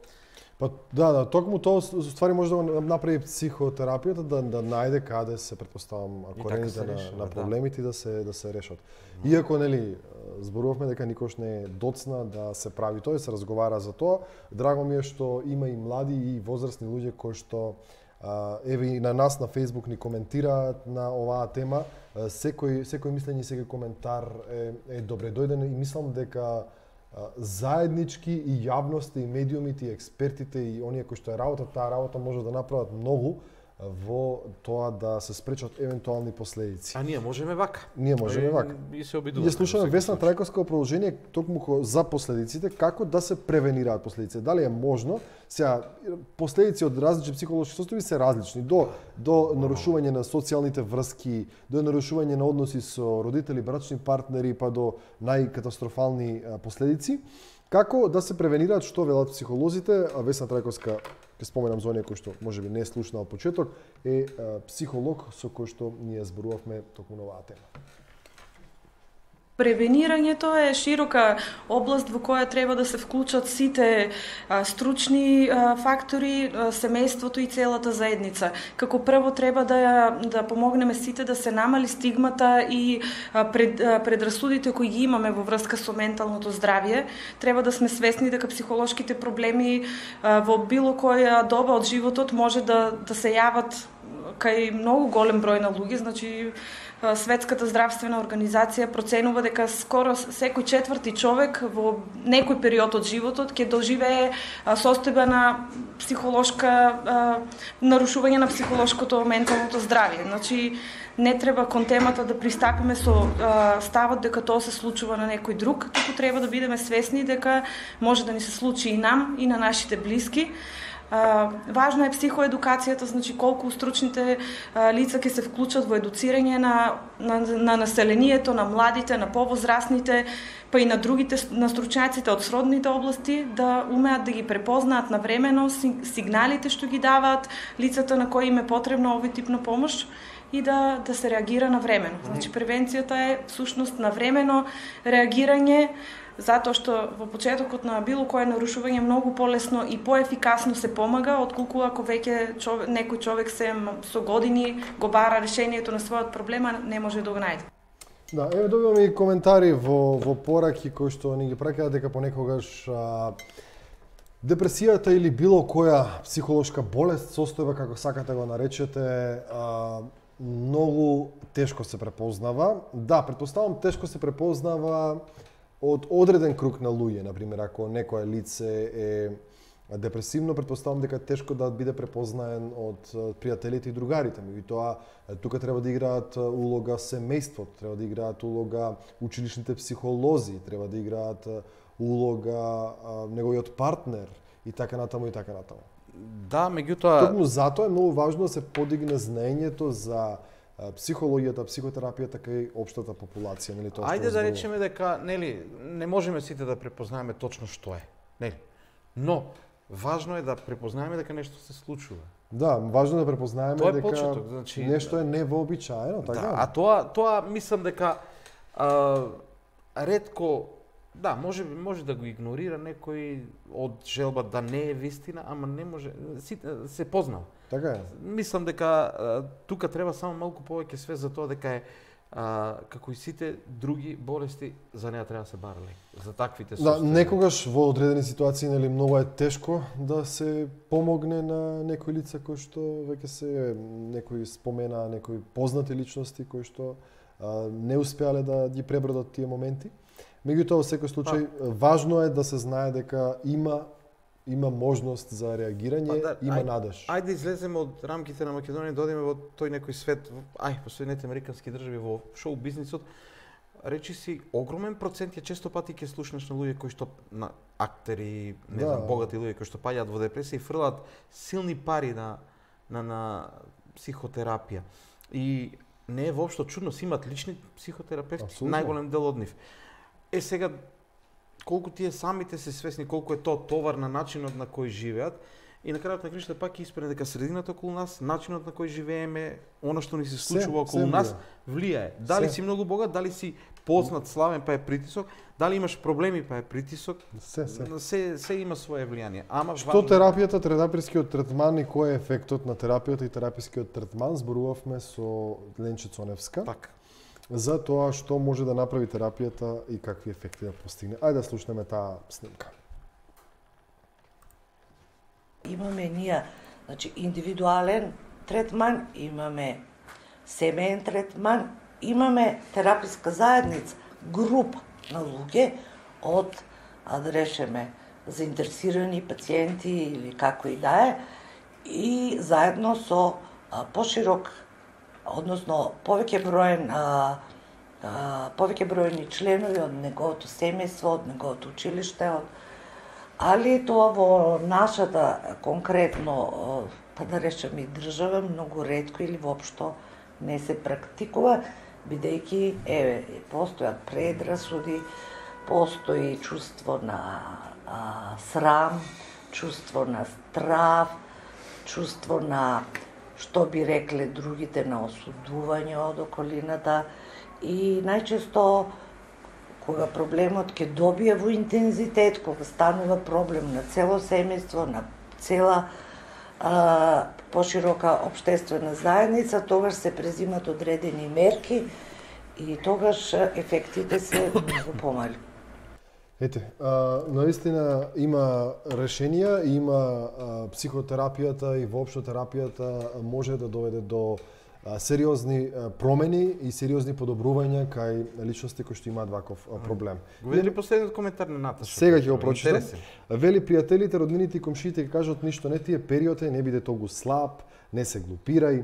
Па да, токму тоа ствари може да направи психотерапијата, да најде каде се претпоставам корените на проблемите и да се решат. Иако нели зборувавме дека никош не е доцна да се прави тоа и се разговара за тоа, драго ми е што има и млади и возрастни луѓе кои што еве и на нас на Facebook ни коментираат на оваа тема. Секој мислење и секој коментар е добре дојден и мислам дека заеднички и јавноста и медиумите и експертите и оние кои што е таа работа може да направат многу во тоа да се спречат евентуални последици. А ние можеме вака. Ние можеме вака. И се обидуваме. Ја слушаме Весна Трајковска продолжение токму за последиците, како да се превенираат последици. Дали е можно? Сега последици од различни психолошки состојби се различни, до нарушување на социјалните врски, до нарушување на односи со родители, брачни партнери, па до најкатастрофални последици. Како да се превенираат, што велат психолозите? Весна Трајковска, ќе споменам за оние кои што можеби не е слушнал почеток, е психолог со кој што ние зборувавме токму на оваа тема. Превенирањето е широка област во која треба да се вклучат сите стручни фактори, семејството и целата заедница. Како прво треба да помогнеме сите да се намали стигмата и предрасудите кои ги имаме во врска со менталното здравје. Треба да сме свесни дека психолошките проблеми во било која доба од животот може да се јават кај многу голем број на луѓе, значи Светската здравствена организација проценува дека скоро секој четврти човек во некој период од животот ќе доживее состојба на психолошка нарушување на психолошкото менталното здравје. Значи не треба кон темата да пристапиме со ставот дека тоа се случува на некој друг, туку треба да бидеме свесни дека може да ни се случи и нам и на нашите блиски. Важно е психоедукацијата, значи колку стручните лица ќе се вклучат во едуцирање на населението, на младите, на повозрастните, па и на другите, на стручњаците од сродните области, да умеат да ги препознаат навремено сигналите што ги даваат лицата на кои им е потребна овој тип на помош и да се реагира навремено. Значи превенцијата е всушност навремено реагирање, затоа што во почетокот на било кое нарушување многу полесно и поефикасно се помага, отколку ако веќе некој човек се со години го бара решението на својот проблема, не може да го најде. Да, еве добиваме и коментари во пораки кои што ни ги праќаат дека понекогаш депресијата или било која психолошка болест, состојба како сакате го наречете, многу тешко се препознава. Да, претпоставам тешко се препознава од одреден круг на луѓе, например, ако некое лице е депресивно, претпоставам дека е тешко да биде препознаен од пријателите и другарите. Меѓутоа, тука треба да играат улога семејството, треба да играат улога училишните психолози, треба да играат улога неговиот партнер и така натаму и така натаму. Да, меѓутоа... Токму затоа е многу важно да се подигне знаењето за психологијата, психотерапијата кај општата популација, нели тоа? Ајде да речеме дека, нели, не можеме сите да препознаеме точно што е, нели? Но важно е да препознаеме дека нешто се случува. Да, важно е да препознаеме тоа е дека почеток, значи, нешто е невообичаено, така? Да, а тоа мислам дека ретко, да, може да го игнорира некој од желба да не е вистина, ама не може, се познал. Така е. Мислам дека тука треба само малку повеќе свест за тоа дека е како и сите други болести, за неа треба да се барали. За таквите состојби. Да, некогаш во одредени ситуации, нели, многу е тешко да се помогне на некои лица кои што веќе се некои спомена, некои познати личности кои што не успеале да ги пребродат тие моменти. Меѓутоа, во секој случај, важно е да се знае дека има можност за реагирање, има надеж. Ајде излеземе од рамките на Македонија, да одиме во тој некој свет, по Соединетите американски држави, во шоу бизнисот. Речи си, огромен процент ја често пати ќе слушнеш на луѓе кои што на актери, не знам, богати луѓе кои што паѓаат во депресија и фрлаат силни пари на психотерапија. И не е воопшто чудно, си имат лични психотерапевти, најголем дел од нив. Сега, колку тие самите се свесни колку е тоа товар на начинот на кој живеат, и на крајот на краишта пак испрене дека средината околу нас, начинот на кој живееме, она што ни се случува околу нас, влијае. Дали си многу богат, дали си познат, славен, па е притисок, дали имаш проблеми, па е притисок, се има свое влијание. Ама што терапијата, терапискиот третман и кој е ефектот на терапијата и терапискиот третман, зборувавме со Ленче Цоневска. Така. За тоа што може да направи терапијата и какви ефекти да постигне. Ајде да слушнеме таа снимка. Имаме ние, значи, индивидуален третман, имаме семеен третман, имаме тераписка заедница, група на луѓе од, да решеме, заинтересирани пациенти или како и да е, и заедно со поширок, односно повеќе бројни членови од неговото семејство, од неговото училиште, али тоа во нашата конкретно, па да речеме, држава многу ретко или воопшто не се практикува, бидејќи постојат предрасуди, постои чувство на срам, чувство на страв, чувство на, што би рекле другите, на осудување од околината, и најчесто кога проблемот ќе добие во интензитет, кога станува проблем на цело семејство, на цела поширока општествена заедница, тогаш се презимат одредени мерки и тогаш ефектите се многу помали. Ете, наистина има решенија, има психотерапијата и воопшто терапијата може да доведе до сериозни промени и сериозни подобрувања кај личности кои што имаат ваков проблем. Го видели последниот коментар на Наташа? Сега ќе го прочитам. Вели, пријателите, роднините и комшиите ќе кажат ништо не тие период е, не биде толку слаб, не се глупирај.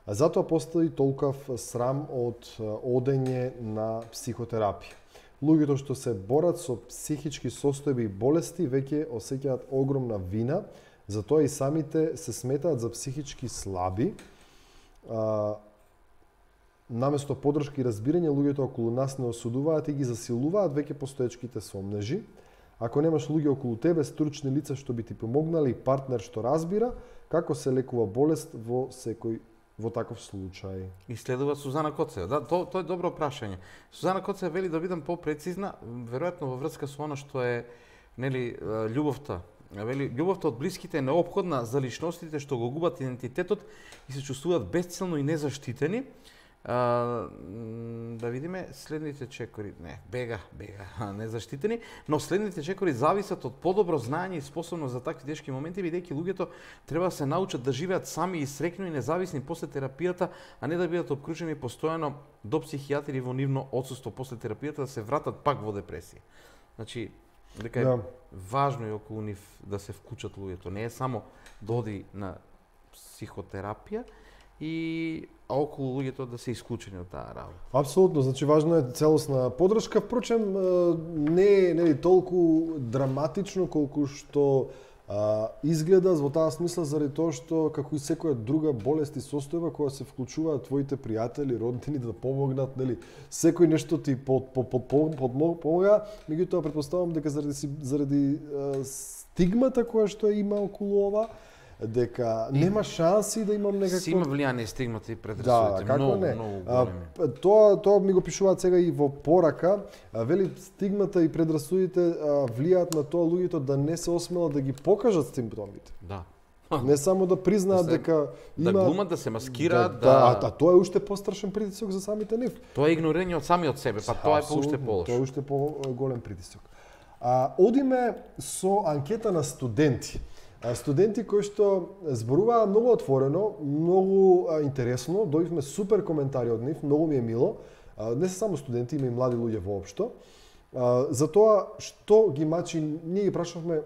А затоа постои толкав срам од одење на психотерапија. Луѓето што се борат со психички состојби и болести веќе осеќаат огромна вина, затоа и самите се сметаат за психички слаби. Наместо поддршка и разбирање, луѓето околу нас не осудуваат и ги засилуваат веќе постоечките сомнежи. Ако немаш луѓе околу тебе, стручни лица што би ти помогнали и партнер што разбира како се лекува болест во таков случај. И следува Сузана Коцева. Да, тоа е добро прашање. Сузана Коцева вели да бидам попрецизна, веројатно во врска со она што е, нели, љубовта. Вели, љубовта од блиските е неопходна за личностите што го губат идентитетот и се чувствуваат бесцелно и незаштитени. Да видиме следните чекори. Не, бега, незаштитени, но следните чекори зависат од подобро знаење и способност за такви тешки моменти, бидејќи луѓето треба да се научат да живеат сами и среќни и независни после терапијата, а не да бидат обкружени постојано до психијатри во нивно отсуство после терапијата, да се вратат пак во депресија. Значи, Дека е важно и околу нив да се вклучат луѓето. Не е само да оди на психотерапија, а околу луѓето да се исклучени од таа работа. Апсолутно, значи важно е целосна поддршка, впрочем не е толку драматично колку што изгледа во таа смисла, заради тоа што како и секоја друга болест и состојба која се вклучуваат твоите пријатели, роднини да помогнат, нели, секој нешто ти помага, меѓутоа претпоставувам дека заради стигмата која што има околу ова, дека нема шанси да имам некакво... Си има влијание стигмата и предрасудите, многу големи. Тоа ми го пишуваат сега и во порака. Вели, стигмата и предрасудите влијаат на тоа луѓето да не се осмелат да ги покажат симптомите. Да. Не само да признаат дека има... Да глумат, да се маскираат, А тоа е уште пострашен притисок за самите нив. Тоа е игнорирање од самиот себе, па тоа е уште полош. Тоа е уште поголем притисок. Одиме со анкета на студенти. Студенти кои што зборуваа многу отворено, многу интересно, добивме супер коментари од нив, многу ми е мило. Не се само студенти, има и млади луѓе воопшто. За тоа што ги мачи, ние ги прашавме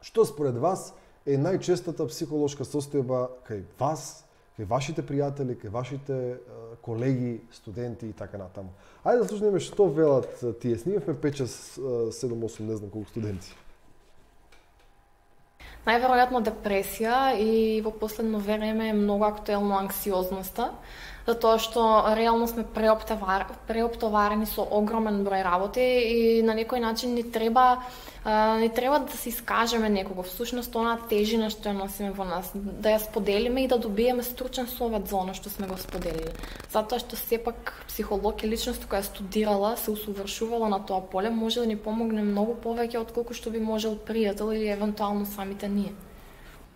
што според вас е најчестата психолошка состојба кај вас, кај вашите пријатели, кај вашите колеги, студенти и така натаму. Ајде да слушнеме што велат тие. Снимавме 5, 6, 7, 8, не знам колку студенти. Најверојатно депресија и во последно време е многу актуелно анксиозноста, затоа што реално сме преоптоварени со огромен број работи и на некој начин ни треба да се искажеме некого. Всушност онаа тежина што ја носиме во нас, да ја споделиме и да добиеме стручен совет за оно што сме го споделили. Затоа што сепак психолог е личност која студирала, се усовршувала на тоа поле, може да ни помогне многу повеќе отколку што би можел пријател или евентуално самите ние.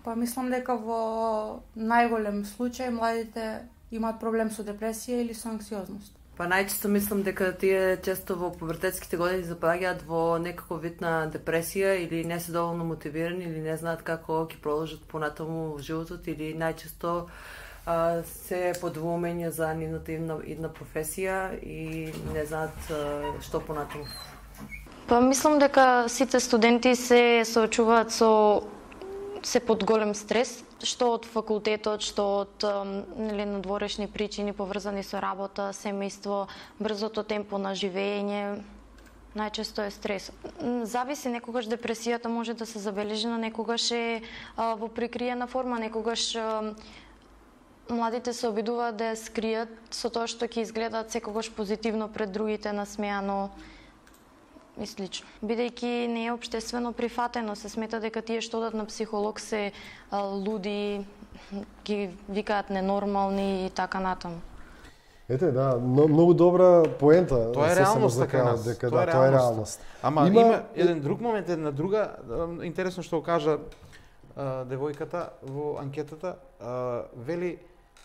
Па мислам дека во најголем случај младите имаат проблем со депресија или со анксиозност. Па најчесто мислам дека тие често во повртетските години запаѓаат во некаков вид на депресија или не се доволно мотивирани или не знаат како ќе продолжат понатаму во животот или најчесто се подвумења за нивната идна професија и не знаат што понатаму. Па мислам дека сите студенти се соочуваат се под голем стрес, што од факултетот, што од надворешни причини поврзани со работа, семејство, брзото темпо на живење, најчесто е стрес. Зависи, некогаш депресијата може да се забележи, но некогаш е во прикриена форма, некогаш младите се обидуваат да ја скријат со тоа што ќе изгледаат секогаш позитивно пред другите, насмеано и слично. Бидејќи не е општествено прифатено, се смета дека тие што одат на психолог се луди, ги викаат ненормални и така натаму. Ете, да, многу добра поента. Тоа е реалност кај нас. Тоа е реалност. Ама има еден друг момент, една друга интересно што го кажа девојката во анкетата, вели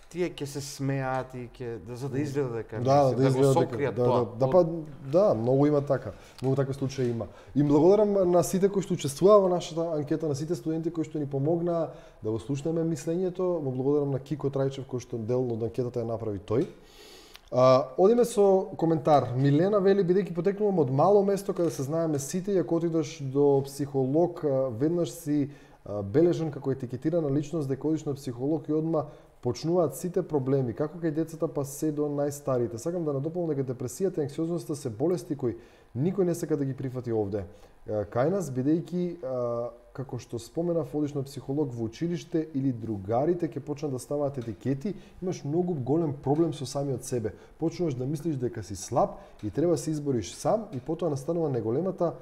тие ќе се смеат и за да изгледа дека го сокријат тоа. Да, многу има така. Многу такви случаи има. И благодарам на сите кои што учествуваа во нашата анкета, на сите студенти кои што ни помогнаа да го слушнеме мислењето. Му благодарам на Кико Трајчев кој што дел од анкетата ја направи тој. Одиме со коментар. Милена вели, бидејќи потекнувам од мало место каде се знаеме сите, и ако отидеш до психолог, веднаш си бележен како етикетирана личност дека одиш на психолог и одма почнуваат сите проблеми, како кај децата па се до најстарите. Сакам да надополнам дека депресијата и анксиозноста се болести кои никој не сака да ги прифати овде. Кај нас, бидејќи, како што споменав, одиш на психолог во училиште или другарите ќе почнат да ставаат етикети, имаш многу голем проблем со самиот себе. Почнуваш да мислиш дека си слаб и треба да се избориш сам и потоа настанува неголемата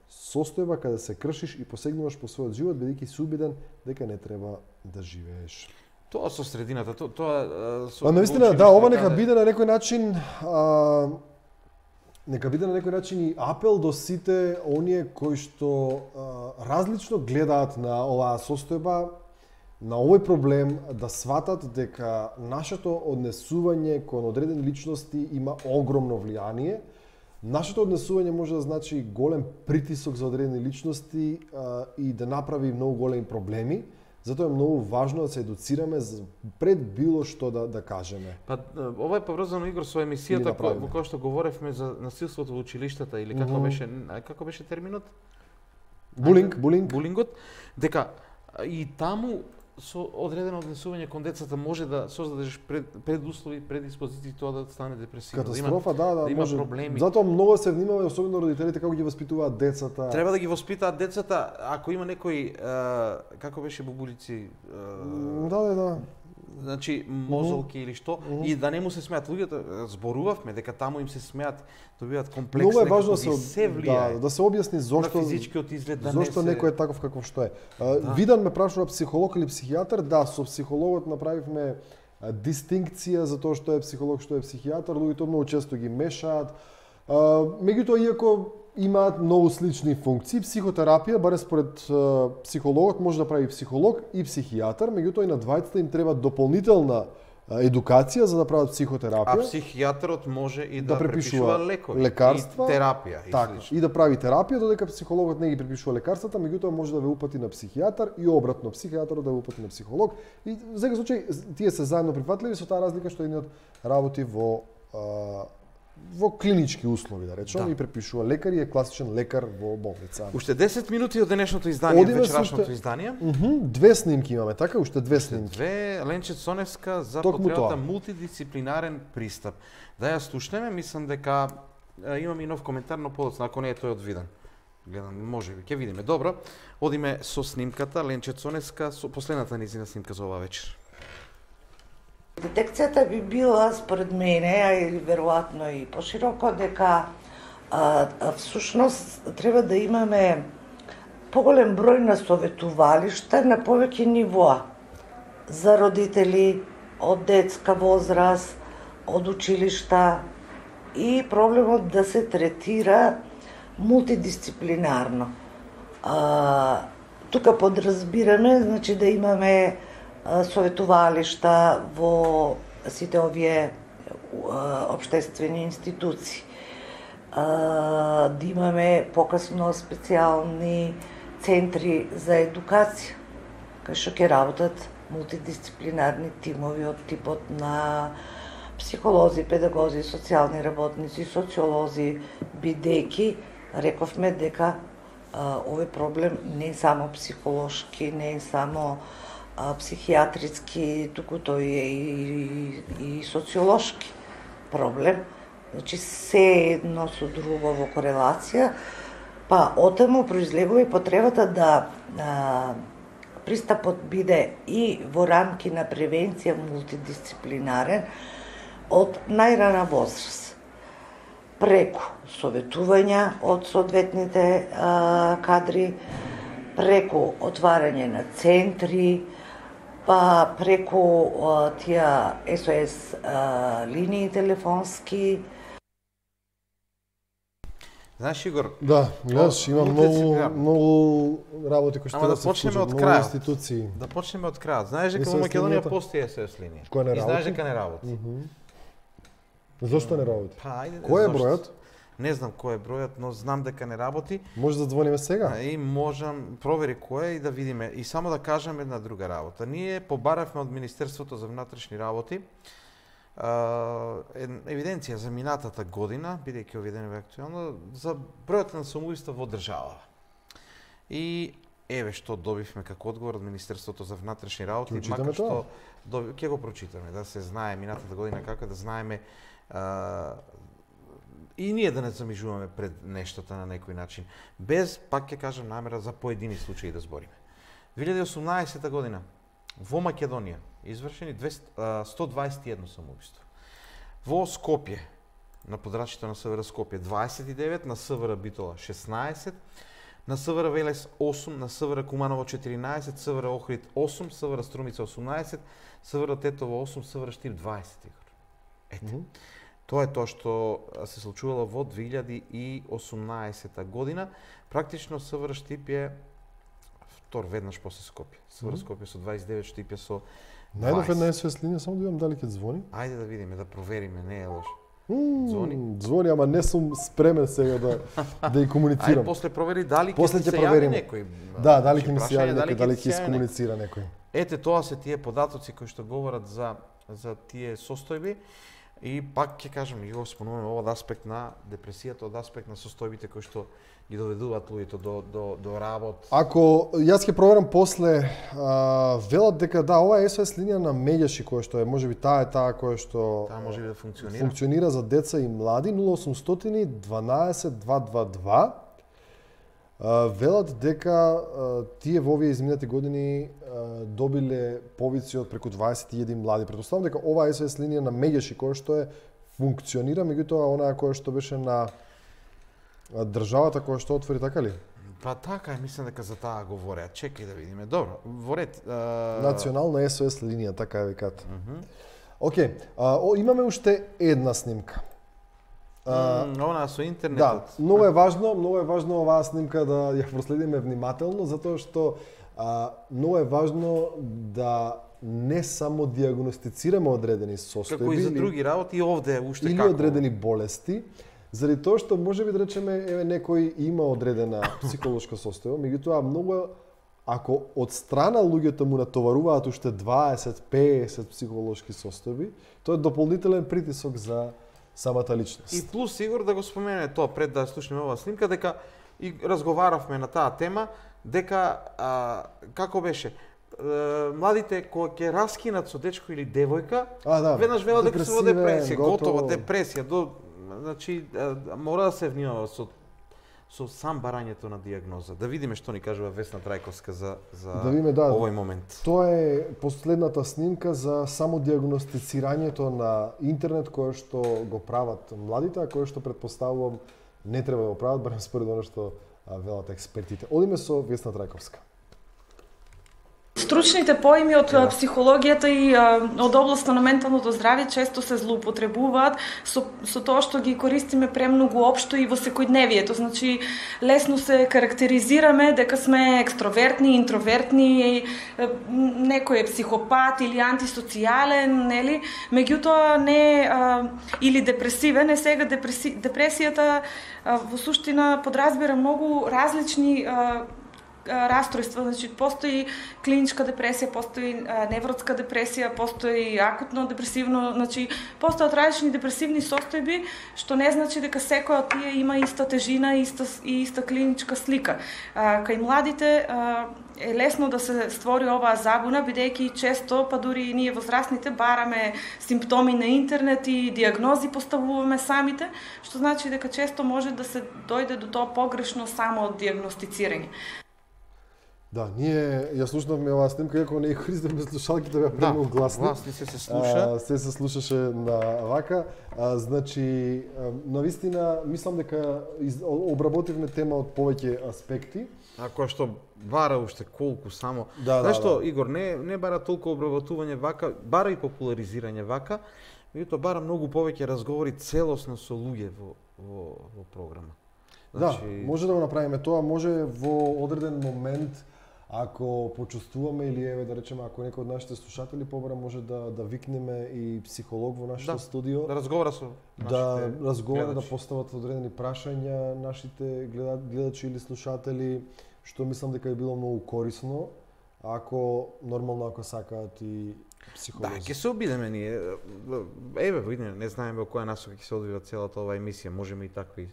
состојба каде се кршиш и посегнуваш по својот живот, бидејќи си убеден дека не треба да живееш. Тоа со средината, тоа со... Навистина, да, ова нека биде на некој начин и апел до сите оние кои што различно гледаат на оваа состојба, на овој проблем, да сватат дека нашето однесување кон одредени личности има огромно влијание. Нашето однесување може да значи голем притисок за одредени личности и да направи многу големи проблеми. Затоа е многу важно да се едуцираме пред било што да кажеме. Па ова е поврзано, Игор, со емисијата во која што говоревме за насилството во училиштата или како беше терминот? Булингот, дека и таму со одредено однесување кон децата може да создадеш предуслови, предиспозиции тоа да стане депресивно. Катастрофа, да има може. проблеми. Затоа многу се внимава, особено родителите, како ги воспитуваат децата. Треба да ги воспитаат децата, ако има некои како беше бубулици, да. Значи мозолки или што, и да не му се смеат луѓето, зборувавме дека таму им се смеат, добиваат комплекс, многу е важно се влијае. Да се објасни зошто на физичкиот изглед, да зошто не се... некој е таков каков што е. Видан ме прашува психолог или психијатар, да, со психологот направивме дистинкција за тоа што е психолог, што е психијатар, луѓето многу често ги мешаат. Меѓутоа, иако имаат многу слични функции, психотерапија, баре според психологот, може да прави психолог и психијатар, меѓутоа и на двајцата им треба дополнителна едукација за да прават психотерапија. А психијатарот може и да препишува лекови, лекарства, и терапија. Така, и да прави терапија, додека психологот не ги препишува лекарствата, меѓутоа може да ве упати на психијатар и обратно, психијатарот да ве упати на психолог. И во секој случај тие се заедно прифатливи со таа разлика што едниот работи во клинички услови, да речем, и препишува лекар и е класичен лекар во болница. Уште 10 минути од денешното издание, вечерашното издание. Две снимки имаме, така? Уште две снимки. Две, Ленче Цоневска за потребата мултидисциплинарен пристап. Да ја слушнеме, мислам дека имам и нов коментар, но подоцна, ако не е тој одвиден. Гледам, може би, ќе видиме. Добро, одиме со снимката, Ленче Цоневска, со последната низина снимка за оваа вечер. Детекцијата би била, според мене, а и веројатно и пошироко, дека всушност треба да имаме поголем број на советувалишта на повеќе нивоа за родители од детска возраст, од училишта и проблемот да се третира мултидисциплинарно. Тука подразбираме, значи да имаме советувалишта во сите овие општествени институции. Да имаме покасно специјални центри за едукација, кај што ќе работат мултидисциплинарни тимови од типот на психолози, педагози, социјални работници, социолози, бидејќи рековме дека овој проблем не е само психолошки, не е само психијатрицки, туку тој е и социолошки проблем. Значи, се едно со друго во корелација, па отаму произлегува и потребата да пристапот биде и во рамки на превенција мултидисциплинарен од најрана возраст. Преку советувања од соодветните кадри, преку отварање на центри, па преку тие СОС линии телефонски. Знаеш, Игор? Да, гледаш, има многу работи кои што да се случат, многу институции. Да почнеме од крајот. Знаеш дека во Македонија постои СОС линија. Кој не работи? И знаеш дека не работи. Зошто не работи? Па, ајде, кој е бројот? Не знам кој е бројот, но знам дека не работи. Може да звониме сега? И можам, провери кој е и да видиме. И само да кажам една друга работа. Ние побаравме од Министерството за внатрешни работи евиденција за минатата година, бидејќи овие денови актуелно, за бројот на самоубиства во државава. И еве што добивме како одговор од Министерството за внатрешни работи, макар што ќе го прочитаме, да се знае минатата година како да знаеме и ние да не замижуваме пред нештата на некој начин, без, пак ќе кажам, намера за поедини случаи да збориме. 2018 година во Македонија извршени 121 самоубиства. Во Скопје, на подрачјето на СВР Скопје 29, на СВР Битола 16, на СВР Велес 8, на СВР Куманово 14, СВР Охрид 8, СВР Струмица 18, СВР Тетово 8, СВР Штип 20. Ете. Тоа е тоа што се случувало во 2018 година. Практично СВР Штип е втор веднаш после Скопје. СВР Скопје со 29, Штип е со 20. Најдов една СОС линија, само да видам дали ќе звони. Ајде да видиме, да провериме, не е лошо. Звони, ама не сум спремен сега да и комуницирам. Ај после провери дали после ќе ќе се проверим јави некој. Да, дали ќе ми се јави некој, дали ќе искомуницира некој. Ете, тоа се тие податоци кои што говорат за тие состојби. И пак ќе кажам, и го спомнуваме од аспект на депресијата, од аспект на состојбите кои што ги доведуваат луѓето до работ. Ако јас ќе проверам после, велат дека да, ова е SOS линија на Меѓаши која што е, можеби таа која што можеби да функционира. Функционира за деца и млади 0800 12 222. Велат дека тие во овие изминати години добиле повици од преку 21 млади. Претпоставам дека ова SOS линија на Меѓаши која што е функционира, меѓутоа онаа која што беше на државата која што отвори, така ли? Па така е, мислам дека за таа говореа. Чекај да видиме. Добро, во ред. Национална SOS линија, така е викат. Океј, имаме уште една снимка. Она со интернетот. Да, многу е важно оваа снимка да ја проследиме внимателно, затоа што многу е важно да не само диагностицираме одредени состојби, како и за други работи, и овде уште или како одредени болести, заради тоа што можеби да речеме еве некој има одредена психолошка состојба, меѓутоа многу ако од страна луѓето му натоваруваат уште 20-50 психолошки состојби, тоа е дополнителен притисок за самата личност. И плюс сигур да го спомене тоа пред да слушнеме оваа снимка, дека и разговаравме на таа тема, дека како беше младите кога ќе раскинат со дечко или девојка, веднаш велат дека се во депресија, готова депресија, значи мора да се внимава со сам барањето на диагноза. Да видиме што ни кажува Весна Трајковска за овој момент. Тоа е последната снимка за само диагностицирањето на интернет кое што го прават младите, а кое што претпоставувам не треба да го прават, барем според оно што велат експертите. Одиме со Весна Трајковска. Стручните поими од психологијата и од областа на менталното здравје често се злоупотребуваат со тоа што ги користиме премногу општо и во секојдневието. Значи, лесно се карактеризираме дека сме екстровертни, интровертни, некој е психопат или антисоцијален, нели? Меѓутоа не или депресивен, сега депресијата во суштина подразбира многу различни расстройства, значи постои клиничка депресија, постои невротска депресија, постои акутно депресивно, значи постојат различни депресивни состојби, што не значи дека секоја од тие има иста тежина и иста клиничка слика. Кај младите е лесно да се створи оваа забуна, бидејќи често, па дури и ние возрастните, бараме симптоми на интернет и диагнози поставуваме самите, што значи дека често може да се дојде до тоа погрешно само диагностицирање. Да, ние ја слушнавме оваа снимка, иако не ја користевме слушалките, беа премногу гласни. Гласни се слуша. Се слушаше на вака. Значи, навистина, мислам дека обработивме тема од повеќе аспекти. Која што бара уште колку само. Знаеш што, Игор, не бара толку обработување вака, бара и популаризирање вака, меѓутоа бара многу повеќе разговори целосно со луѓе во програма. Значи... Да, може да го направиме тоа, може во одреден момент, ако почувствуваме или еве да речеме ако некој од нашите слушатели побара може да викнеме и психолог во нашето студио, да разговара со нашите да постават одредени прашања нашите гледачи или слушатели, што мислам дека е било многу корисно, ако нормално ако сакаат и психолози. Да, ќе се обидеме ние. Еве, видиме, не знаеме во која насока ќе се одвива целата оваа емисија, можеме и такви.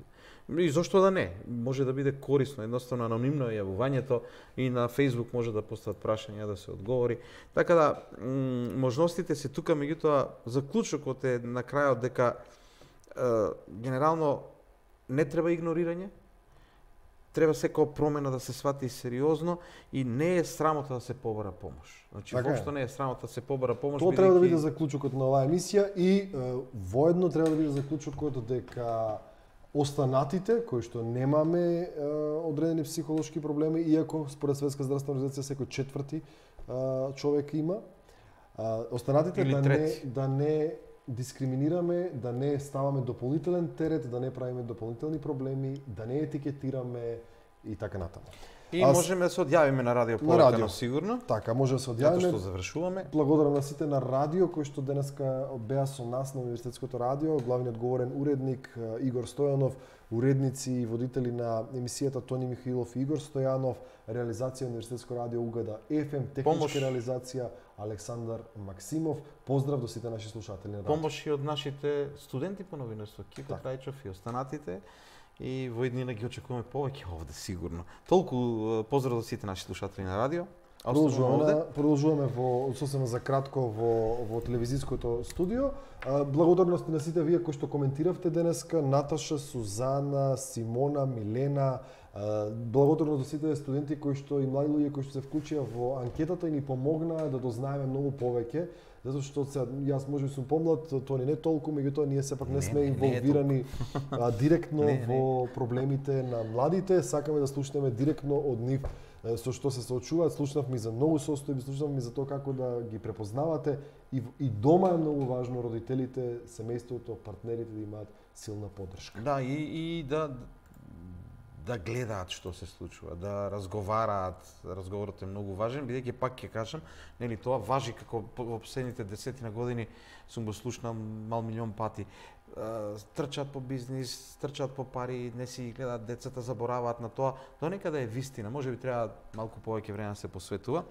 И зошто да не? Може да биде корисно, едноставно анонимно јавувањето и на Facebook може да постават прашања да се одговори. Така да, можностите се тука, меѓутоа, заклучокот е на крајот дека генерално не треба игнорирање, треба секоја промена да се свати сериозно и не е срамота да се побара помош. Значи, воопшто не е срамота да се побара помош. Тоа треба да биде заклучокот на оваа емисија и воедно треба да биде заклучокот дека останатите, кои што немаме одредени психолошки проблеми, иако според Светска здравствена организација секој четврти човек има, останатите да не дискриминираме, да не ставаме дополнителен терет, да не правиме дополнителни проблеми, да не етикетираме и така натаму. И можеме да се одјавиме на радио повеќе сигурно. Така, може да се одјавиме. Затоа што завршуваме. Благодарам на сите на радио кои што денеска беа со нас на Универзитетското радио, главниот говорен уредник Игор Стојанов, уредници и водители на емисијата Тони Михаилов и Игор Стојанов, реализација Универзитетско радио Угада ФМ, техничка реализација Александар Максимов. Поздрав до сите наши слушатели на радио. Помош и од нашите студенти по новинарство, Кипе Трајчов и останатите. И во иднина ги очекуваме повеќе овде сигурно. Толку поздрав до сите наши слушатели на радио. Продолжуваме во сосема за кратко во телевизиското студио. Благодарности на сите вие кои што коментиравте денеска, Наташа, Сузана, Симона, Милена. Благодарност до сите студенти кои што и млади луѓе кои што се вклучија во анкетата и ни помогнаа да дознаеме многу повеќе. Затоа што јас може би сум помлад, Тони не толку, меѓутоа ние сепак не сме инволвирани директно во проблемите на младите. Сакаме да слушнеме директно од нив со што се соочуваат. Слушнавме за многу состојби, слушнавме за тоа како да ги препознавате и дома е многу важно родителите, семејството, партнерите да имаат силна поддршка. Да, и да гледаат што се случува, да разговараат. Разговорот е многу важен, бидејќи пак ќе кажам, нели тоа важи како во последните 10 години сум го слушнал мал милион пати. Трчаат по бизнис, трчаат по пари, не си гледаат децата, забораваат на тоа. До некаде е вистина, може би треба малку повеќе време да се посветува,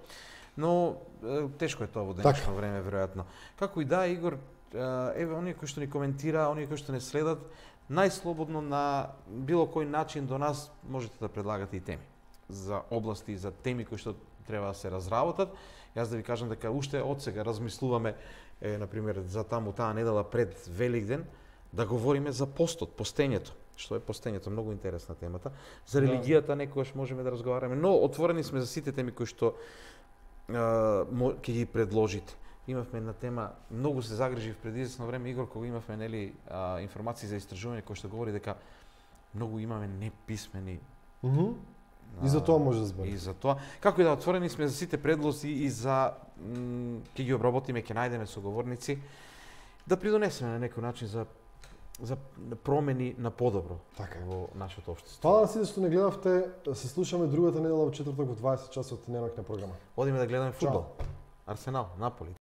но тешко е тоа во денешно време веројатно. Како и да, Игор, еве оние кои што ни коментира, оние кои што не следат, најслободно на било кој начин до нас можете да предлагате и теми за области, за теми кои што треба да се разработат. Јас да ви кажам дека уште од сега размислуваме, например, за таму таа недела пред Великден, да говориме за постот, постењето. Што е постењето? Многу интересна темата. За религијата некогаш можеме да разговараме, но отворени сме за сите теми кои што ќе ги предложите. Имавме една тема, многу се загрижив пред известно време, Игор, кога имавме нели информации за истражување кои што говори дека многу имаме неписмени. И за тоа може да збори. И за тоа. Како и да, отворени сме за сите предлози и за ќе ги обработиме, ќе најдеме соговорници, да придонесеме на некој начин за промени на подобро во нашето општество. Фала на сите што не гледавте, се слушаме другата недела во четврток во 20 часот, немак на програма. Одиме да гледаме фудбал. Арсенал, Наполи.